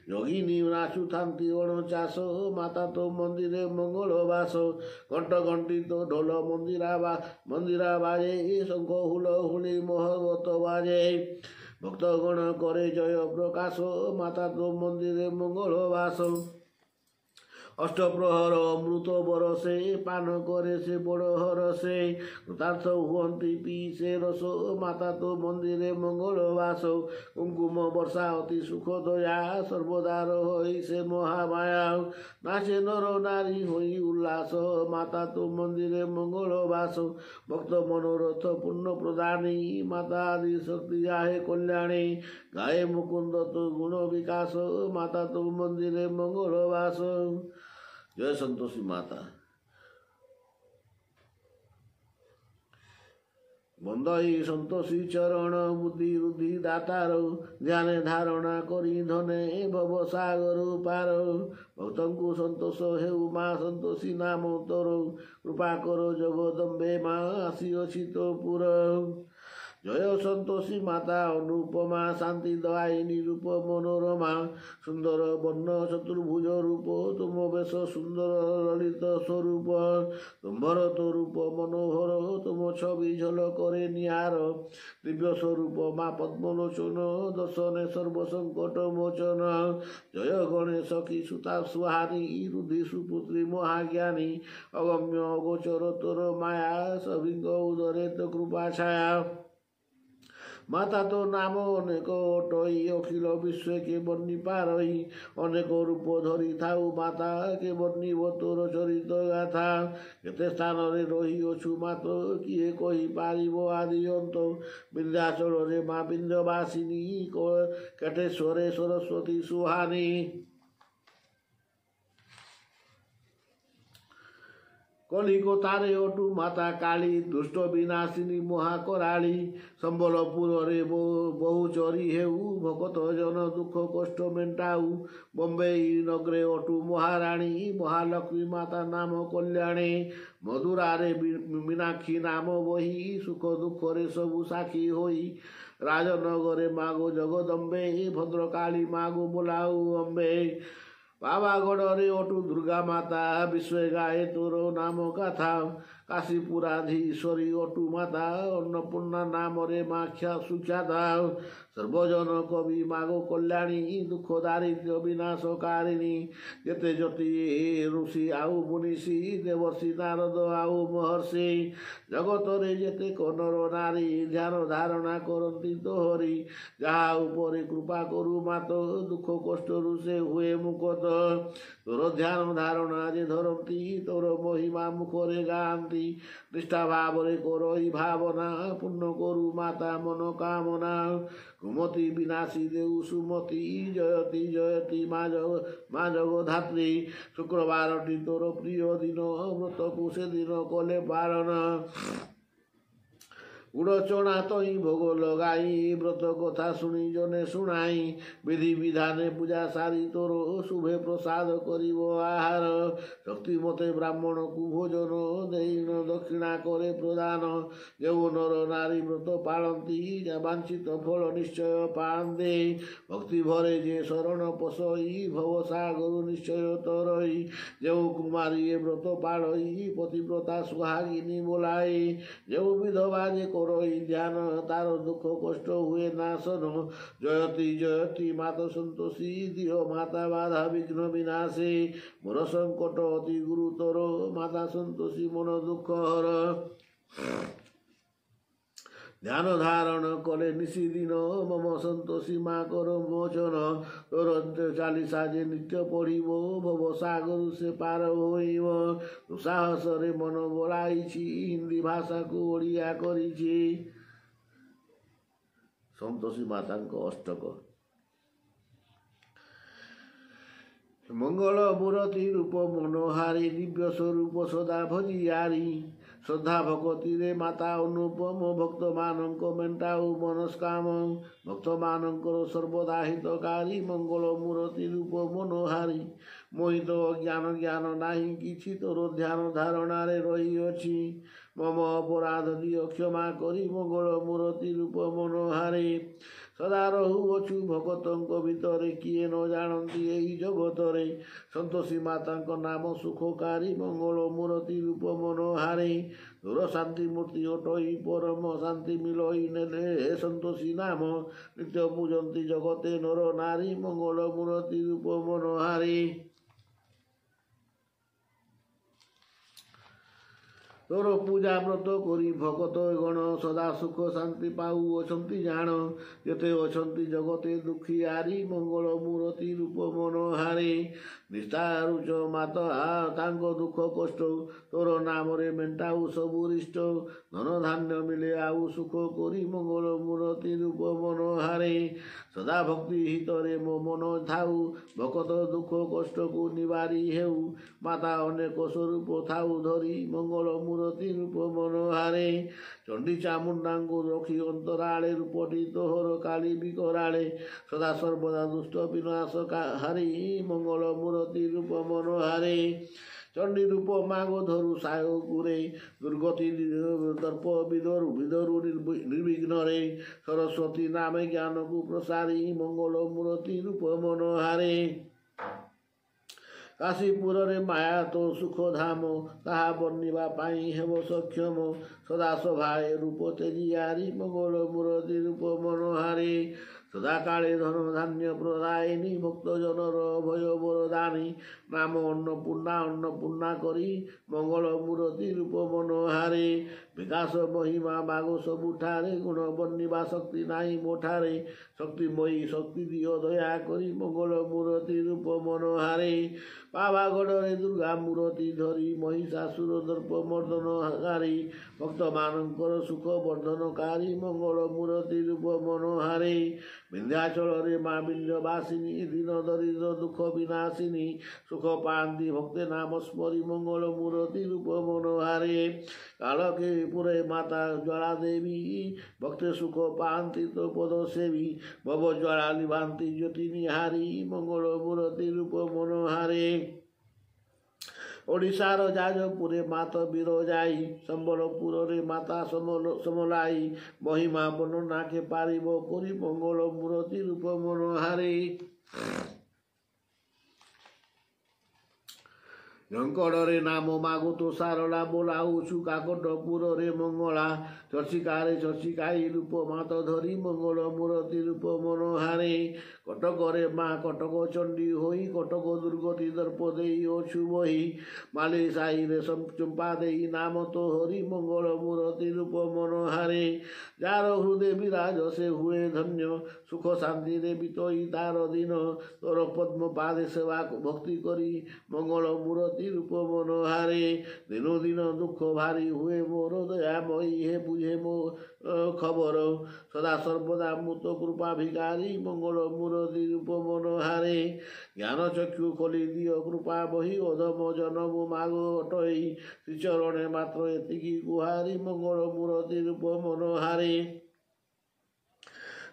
ଯୋଗିନୀ ନାଚୁଥାନ୍ତି ଅଣଚାଷ, ମାତା ତୋ ମନ୍ଦିରେ ମଙ୍ଗଳ ବାସ। ଘଣ୍ଟ ଘଣ୍ଟି ତୋ ଢୋଲ ମନ୍ଦିରା ବା ମନ୍ଦିରା ବାଜେ, ଶଙ୍ଖ ହୁଳ ହୁଳି ମହବତ ବାଜେ। ଭକ୍ତଗଣ କରେ ଜୟ ପ୍ରକାଶ, ମାତା ତୋ ମନ୍ଦିରେ ମଙ୍ଗଳ ବାସ। ଅଷ୍ଟପ୍ରହର ଅମୃତ ବରସେ, ପାନ କରେ ସେ ବଡ଼ ହରସେ। କୃତାର୍ଥ ହୁଅନ୍ତି ପିଇ ସେ ରସ, ମାତା ତୋ ମନ୍ଦିରେ ମଙ୍ଗଳ ବାସ। କୁଙ୍କୁମ ବର୍ଷା ଅତି ସୁଖ ଦୟା, ସର୍ବଦା ରହଇ ସେ ମହାମାୟା। ନାଚେ ନର ନାରୀ ହୋଇ ଉଲ୍ଲାସ, ମାତା ତୋ ମନ୍ଦିରେ ମଙ୍ଗଳ ବାସ। ଭକ୍ତ ମନୋରଥ ପୂର୍ଣ୍ଣ ପ୍ରଦାନୀ, ମାତା ଆଦି ଶକ୍ତି ଆହେ କଲ୍ୟାଣୀ। ଗାଏ ମୁକୁନ୍ଦ ତୋ ଗୁଣ ବିକାଶ, ମାତା ତୋ ମନ୍ଦିରେ ମଙ୍ଗଳ ବାସ। ଜୟ ସନ୍ତୋଷୀ ମାତା। ବନ୍ଦଇ ସନ୍ତୋଷୀ ଚରଣ, ବୁଦ୍ଧି ରୁଦ୍ଧି ଦାତାର। ଧ୍ୟାନେ ଧାରଣା କରି ଧନେ, ଭବ ସାଗର ପାର। ଭକ୍ତଙ୍କୁ ସନ୍ତୋଷ ହେଉ ମା ସନ୍ତୋଷୀ ନାମ ତୋର। କୃପା କର ଜଗଦମ୍ବେ ମା, ଆସିଅଛି ତୋ ପୁର। ଜୟ ସନ୍ତୋଷୀ ମାତା ଅନୁପମା, ଶାନ୍ତି ଦୟାୟିନୀ ରୂପ ମନୋରମା। ସୁନ୍ଦର ବର୍ଣ୍ଣ ଚତୁର୍ଭୁଜ ରୂପ, ତୁମ ବେଶ ସୁନ୍ଦର ଲଳିତ ସ୍ୱରୂପ। ତୁମ୍ଭର ତୋ ରୂପ ମନୋହର, ତୁମ ଛବି ଝଲକରେ ନିଆର। ଦିବ୍ୟ ସ୍ୱରୂପ ମା ପଦ୍ମଲୋଚନ, ଦର୍ଶନେ ସର୍ବ ସଙ୍କଟ ମୋଚନ। ଜୟ ଗଣେଶ କି ସୁତା ସୁହାନୀ, ରୁଧି ସୁପୁତ୍ରୀ ମହାଜ୍ଞାନୀ। ଅଗମ୍ୟ ଅଗୋଚର ତୋର ମାୟା, ସଭିଙ୍କ ଉଦରେ ତୋ କୃପା ଛାୟା। ମାତା ତୋ ନାମ ଅନେକ ଅଟଇ, ଅଖିଳ ବିଶ୍ୱେ କେ ବର୍ଣ୍ଣି ପାରଇ। ଅନେକ ରୂପ ଧରି ଥାଉ ମାତା, କେ ବର୍ଣ୍ଣିବ ତୋର ଚରିତ ଗାଥା। କେତେ ସ୍ଥାନରେ ରହିଅଛୁ ମାତ, କିଏ କହିପାରିବ ଆଦି ଅନ୍ତ। ବିନ୍ଧ୍ୟାଚଳରେ ମା ବିନ୍ଧ୍ୟବାସିନୀ, କେଟେଶ୍ୱରେ ସରସ୍ୱତୀ ସୁହାନୀ। କଲିକତାରେ ଅଟୁ ମାତା କାଳୀ, ଦୁଷ୍ଟ ବିନାଶିନୀ ମହାକରାଳୀ। ସମ୍ବଲପୁରରେ ବହୁଚରୀ ହେଉ, ଭକତ ଜନ ଦୁଃଖ କଷ୍ଟ ମେଣ୍ଟାଉ। ବମ୍ବେଇ ନଗରେ ଅଟୁ ମହାରାଣୀ, ମହାଲକ୍ଷ୍ମୀ ମାତା ନାମ କଲ୍ୟାଣୀ। ମଧୁରାରେ ମୀନାକ୍ଷୀ ନାମ ବହି, ସୁଖ ଦୁଃଖରେ ସବୁ ସାକ୍ଷୀ ହୋଇ। ରାଜନଗରେ ମାଗୋ ଜଗଦମ୍ବେ, ଭଦ୍ରକାଳୀ ମାଗୋ ବୋଲାଉ ଅମ୍ବେ। ପାବାଗଡ଼ରେ ଅଟୁ ଦୁର୍ଗା ମାତା, ବିଶ୍ୱେ ଗାଏ ତୋର ନାମ ଗାଥା। କାଶୀପୁରାଧୀଶ୍ୱରୀ ଅଟୁ ମାତା, ଅନ୍ନପୂର୍ଣ୍ଣା ନାମରେ ମା ସୁଖ୍ୟାତା। ସର୍ବଜନ କବି ମାଗୋ କଲ୍ୟାଣୀ, ଦୁଃଖ ଦାରିଦ୍ର୍ୟ ବିନାଶକାରିଣୀ। ଯେତେ ଯତି ଋଷି ଆଉ ମୁନିଷି, ଦେବର୍ଷି ନାରଦ ଆଉ ମହର୍ଷି। ଜଗତରେ ଯେତେକ ନର ନାରୀ, ଧ୍ୟାନ ଧାରଣା କରନ୍ତି ତୋହରି। ଯାହା ଉପରେ କୃପା କରୁ ମାତ, ଦୁଃଖ କଷ୍ଟରୁ ସେ ହୁଏ ମୁକତ। ତୋର ଧ୍ୟାନ ଧାରଣା ଯେ ଧରନ୍ତି, ତୋର ମହିମା ମୁଖରେ ଗାଆନ୍ତି। ନିଷ୍ଠା ଭାବରେ କରଇ ଭାବନା, ପୂର୍ଣ୍ଣ କରୁ ମାତା ମନୋକାମନା। କୁମତି ବିନାଶୀ ଦେଉ ସୁମତି, ଜୟତି ଜୟତି ମା ଜଗ ମା ଜଗଧାତ୍ରୀ। ଶୁକ୍ରବାରଟି ତୋର ପ୍ରିୟ ଦିନ, ବ୍ରତକୁ ସେଦିନ କଲେ ପାଳନ। ଗୁଡ଼ ଚଣା ତହିଁ ଭୋଗ ଲଗାଇ, ବ୍ରତ କଥା ଶୁଣି ଜନେ ଶୁଣାଇ। ବିଧି ବିଧାନେ ପୂଜା ସାରି ତୋର, ଶୁଭେ ପ୍ରସାଦ କରିବ ଆହାର। ଶକ୍ତି ମତେ ବ୍ରାହ୍ମଣକୁ ଭୋଜନ ଦେଇଣ, ଦକ୍ଷିଣା କରେ ପ୍ରଦାନ। ଯେଉଁ ନର ନାରୀ ବ୍ରତ ପାଳନ୍ତି, ବାଞ୍ଛିତ ଫଳ ନିଶ୍ଚୟ ପାଆନ୍ତି। ଭକ୍ତି ଭରେ ଯେ ଶରଣ ପଶଇ, ଭବ ସାଗରୁ ନିଶ୍ଚୟ ତରଇ। ଯେଉଁ କୁମାରୀ ଏ ବ୍ରତ ପାଳଇ, ପତିବ୍ରତା ସୁହାଗିନୀ ବୋଲାଇ। ଯେଉଁ ବିଧବା ଯେ କରଇ ଧ୍ୟାନ, ତାର ଦୁଃଖ କଷ୍ଟ ହୁଏ ନାଶନ। ଜୟତି ଜୟତି ମାତ ସନ୍ତୋଷୀ, ଦିଅ ମାତା ବାଧା ବିଘ୍ନ ବିନାଶୀ। ମୋର ସଙ୍କଟ ଅତି ଗୁରୁତର, ମାତା ସନ୍ତୋଷୀ ମନ ଦୁଃଖ ହର। ଧ୍ୟାନ ଧାରଣ କଲେ ନିଶିଦିନ, ମମ ସନ୍ତୋଷୀ ମା କର ମୋଚନ। ତୋର ଚାଲିସା ଯେ ନିତ୍ୟ ପଢ଼ିବ, ଭବ ସାଗରୁ ସେ ପାର ହୋଇବ। ସାହସରେ ମନ ବଳାଇଛି, ହିନ୍ଦୀ ଭାଷାକୁ ଓଡ଼ିଆ କରିଛି। ସନ୍ତୋଷୀ ମାତାଙ୍କ ଅଷ୍ଟକ। ମଙ୍ଗଳ ମୂରତି ରୂପ ମନୋହାରୀ, ଦିବ୍ୟ ସ୍ୱରୂପ ସଦା ଭଜିଆରି। ଶ୍ରଦ୍ଧା ଭକତିରେ ମାତା ଅନୁପମ, ଭକ୍ତମାନଙ୍କ ମେଣ୍ଟାଉ ମନସ୍କାମ। ଭକ୍ତମାନଙ୍କର ସର୍ବଦା ହିତକାରୀ, ମଙ୍ଗଳ ମୂରତି ରୂପ ମନୋହାରୀ। ମୋହିତ ଅଜ୍ଞାନ ଜ୍ଞାନ ନାହିଁ କିଛି, ତୋର ଧ୍ୟାନ ଧାରଣାରେ ରହିଅଛି। ମମ ଅପରାଧ ଦିଅ କ୍ଷମା କରି, ମଙ୍ଗଳ ମୂରତି ରୂପ ମନୋହାରୀ। ସଦା ରହୁଅଛୁ ଭକତଙ୍କ ଭିତରେ, କିଏ ନ ଜାଣନ୍ତି ଏହି ଜଗତରେ। ସନ୍ତୋଷୀ ମାତାଙ୍କ ନାମ ସୁଖକାରୀ, ମଙ୍ଗଳ ମୂରତି ରୂପ ମନୋହାରୀ। ତୋର ଶାନ୍ତି ମୂର୍ତ୍ତି ଅଟଇ ପରମ, ଶାନ୍ତି ମିଲଇ ନେଲେ ସନ୍ତୋଷୀ ନାମ। ନିତ୍ୟ ପୂଜନ୍ତି ଜଗତେ ନର ନାରୀ, ମଙ୍ଗଳ ମୂରତି ରୂପ ମନୋହାରୀ। ତୋର ପୂଜା ବ୍ରତ କରି ଭକତ ଗଣ ସଦା ସୁଖ ଶାନ୍ତି ପାଉଅଛନ୍ତି ଜାଣ। ଯେତେ ଅଛନ୍ତି ଜଗତେ ଦୁଃଖିଆରି, ମଙ୍ଗଳ ମୂରତି ରୂପ ମନୋହାରୀ। ନିସ୍ତାରୁଚ ମାତ ତାଙ୍କ ଦୁଃଖ କଷ୍ଟ, ତୋର ନାମରେ ମେଣ୍ଟାଉ ସବୁ ରିଷ୍ଟ। ଧନ ଧାନ୍ୟ ମିଳେ ଆଉ ସୁଖ କରି, ମଙ୍ଗଳ ମୂରତି ରୂପ ମନୋହାରୀ। ସଦା ଭକ୍ତି ହିତରେ ମୋ ମନ ଥାଉ, ଭକତ ଦୁଃଖ କଷ୍ଟକୁ ନିବାରି ହେଉ। ମାତା ଅନେକ ସ୍ୱରୂପ ଥାଉ ଧରି, ମଙ୍ଗଳ ମୂରତି ରୂପ ମନୋହାରେ। ଚଣ୍ଡୀ ଚାମୁଣ୍ଡାଙ୍କୁ ରଖି ଅନ୍ତରାଳେ, ରୂପଟି ତୋହର କାଳି ବିକରାଳେ। ସଦା ସର୍ବଦା ଦୁଷ୍ଟ ବିନାଶ ହାରି, ମଙ୍ଗଳ ମୂରତି ରୂପ ମନୋହାରେ। ଚଣ୍ଡୀ ରୂପ ମାଗ ଧରୁ ସାୟକୁରେ, ଦୁର୍ଗତି ଦର୍ପ ବିଦରୁ ବିଦରୁ ନିର୍ବିଘ୍ନରେ। ସରସ୍ୱତୀ ନାମେ ଜ୍ଞାନକୁ ପ୍ରସାରି, ମଙ୍ଗଳ ମୂରତି ରୂପ ମନୋହାରେ। କାଶୀପୁରରେ ମାୟା ତୋ ସୁଖ ଧାମ, ତାହା ବର୍ଣ୍ଣିବା ପାଇଁ ହେବ ସକ୍ଷମ। ସଦା ସଭାଏ ରୂପ ତେଜିଆରି, ମଙ୍ଗଳ ମୂରତି ରୂପ ମନୋହାରୀ। ସଦାକାଳେ ଧନ ଧାନ୍ୟ ପ୍ରଦାୟିନୀ, ଭକ୍ତ ଜନର ଭୟ ବରଦାନୀ। ନାମ ଅନ୍ନପୂର୍ଣ୍ଣା ଅନ୍ନପୂର୍ଣ୍ଣା କରି, ମଙ୍ଗଳ ମୂରତି ରୂପ ମନୋହାରେ। ବିକାଶ ମହିମା ମାଗ ସବୁଠାରେ, ଗୁଣ ବର୍ଣ୍ଣିବା ଶକ୍ତି ନାହିଁ ମୋଠାରେ। ଶକ୍ତିମୟୀ ଶକ୍ତି ଦିଅ ଦୟା କରି, ମଙ୍ଗଳ ମୂରତି ରୂପ ମନୋହାରେ। ପାବାଗଡ଼ରେ ଦୁର୍ଗା ମୂରତି ଧରି, ମହିଷାସୁର ଦର୍ପ ମର୍ଦ୍ଦନକାରୀ। ଭକ୍ତମାନଙ୍କର ସୁଖ ବର୍ଦ୍ଧନକାରୀ, ମଙ୍ଗଳ ମୂରତି ରୂପ ମନୋହାରେ। ବିନ୍ଧ୍ୟାଚଳରେ ମା ବିନ୍ଧ୍ୟବାସିନୀ, ଦୀନ ଦରିଦ୍ର ଦୁଃଖ ବିନାଶିନୀ। ସୁଖ ପାଆନ୍ତି ଭକ୍ତେ ନାମ ସ୍ମରି, ମଙ୍ଗଳ ମୂରତି ରୂପ ମନୋହାରେ। କାଳକେପୁରେ ମାତା ଜ୍ୱାଳା ଦେବୀ, ଭକ୍ତେ ସୁଖ ପାଆନ୍ତି ତୋ ପଦ ସେବୀ। ଭବ ଜ୍ୱାଳା ଲିଭାନ୍ତି ଜ୍ୟୋତି ନିହାରୀ, ମଙ୍ଗଳ ମୂରତି ରୂପ ମନୋହାରେ। ଓଡ଼ିଶାର ଯାଜପୁରେ ମାତ ବିରଜାଇ, ସମ୍ବଲପୁରରେ ମାତା ସମଲାଇ। ମହିମା ବର୍ଣ୍ଣନା କେ ପାରିବ କରି, ମଙ୍ଗଳ ମୂରତି ରୂପ ମନୋହାରେ। ଝଙ୍କଡ଼ରେ ନାମ ମାଗୁ ତୋ ସାରଳା, ବୋଲାଉଛୁ କାକଟପୁରରେ ମଙ୍ଗଳା। ଚର୍ଚ୍ଚିକାରେ ଚର୍ଚ୍ଚିକାଇ ରୂପ ମାତ ଧରି, ମଙ୍ଗଳ ମୂରତି ରୂପ ମନୋହାରେ। କଟକରେ ମା କଟକ ଚଣ୍ଡୀ ହୋଇ, କଟକ ଦୁର୍ଗତି ଦର୍ପ ଦେଇ ଅଛୁ ବହି। ମାଲି ସାହିରେ ଚମ୍ପା ଦେଇ ନାମ ତୋ ହରି, ମଙ୍ଗଳ ମୂରତି ରୂପ ମନୋହାରେ। ଯାର ହୃଦୟ ବିରାଜ ସେ ହୁଏ ଧନ୍ୟ, ସୁଖ ଶାନ୍ତିରେ ବିତଇ ତାର ଦିନ। ତୋର ପଦ୍ମ ପାଦେ ସେବା ଭକ୍ତି କରି, ମଙ୍ଗଳ ମୂରତି ରୂପ ମନୋହାରେ। ଦିନୁ ଦିନ ଦୁଃଖ ଭାରି ହୁଏ ମୋର, ଦୟାମୟୀ ହେ ବୁଝେ ମୋ ଖବର। ସଦା ସର୍ବଦା ମୁଁ ତୋ କୃପା ଭିକାରୀ, ମଙ୍ଗଳ ମୂରତି ରୂପ ମନୋହାରେ। ଜ୍ଞାନ ଚକ୍ଷୁ ଖୋଲି ଦିଅ କୃପା ବହି, ଅଧମ ଜନମ ମାଗ ଅଟଇ। ଶ୍ରୀଚରଣେ ମାତ୍ର ଏତିକି ଗୁହାରି, ମଙ୍ଗଳ ମୂରତି ରୂପ ମନୋହାରେ।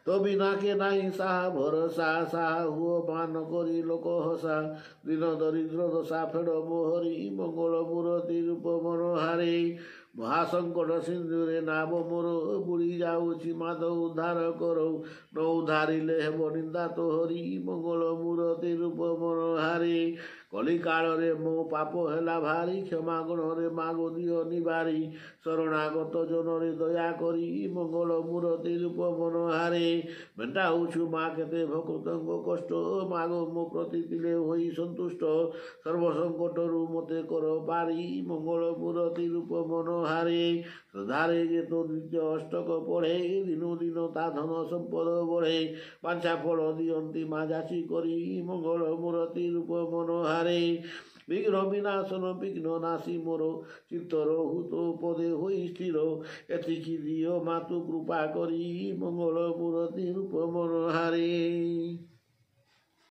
ତୋ ବିନା କେ ନାହିଁ ସାହା ଭରସା, ସାହା ହୁଅ ମାନ କରି ଲୋକ ହସା। ଦିନ ଦରିଦ୍ର ଦଶା ଫେଡ଼ ମୋହରି, ମଙ୍ଗଳ ମୂରତି ରୂପ ମନୋହାରେ। ମହାସଙ୍କଟ ସିନ୍ଧୁରେ ନାବ ମୋର ବୁଡ଼ି ଯାଉଛି, ମାଧ ଉଦ୍ଧାର କର। ନ ଉଦ୍ଧାରିଲେ ହେବ ନିନ୍ଦା ତୋହରି, ମଙ୍ଗଳ ମୂରତି ରୂପ ମନୋହାରେ। କଳିକାଳରେ ମୋ ପାପ ହେଲା ଭାରି, କ୍ଷମା ଗୁଣରେ ମାଗୁ ଦିଅ ନିବାରି। ଶରଣାଗତ ଜନରେ ଦୟା କରି, ମଙ୍ଗଳ ମୂରତି ରୂପ ମନୋହାରେ। ମେଣ୍ଟାଉଛୁ ମା କେତେ ଭକ୍ତଙ୍କ କଷ୍ଟ, ମାଗ ମୋ ପ୍ରତି ଥିଲେ ହୋଇ ସନ୍ତୁଷ୍ଟ। ସର୍ବସଙ୍କଟରୁ ମୋତେ କର ପାରି, ମଙ୍ଗଳ ମୂରତି ରୂପ ମନୋହାରେ। ଶ୍ରଦ୍ଧାରେ ଯେ ତୋ ଦ୍ୱିତୀୟ ଅଷ୍ଟକ ପଢ଼େ, ଦିନୁ ଦିନ ତା ଧନ ସମ୍ପଦ ବଢ଼େ। ବାଞ୍ଛା ଫଳ ଦିଅନ୍ତି ମା ଯାଚି କରି, ମଙ୍ଗଳ ମୂରତି ରୂପ ମନୋହାରେ। ବିଘ୍ନ ବିନାଶନ ବିଘ୍ନ ନାଶି ମୋର, ଚିତ୍ତ ରହୁ ତୋ ପଦେ ହୋଇ ସ୍ଥିର। ଏତିକି ଦିଅ ମାତୁ କୃପା କରି, ମଙ୍ଗଳ ମୂରତି ରୂପ ମନୋହାରେ।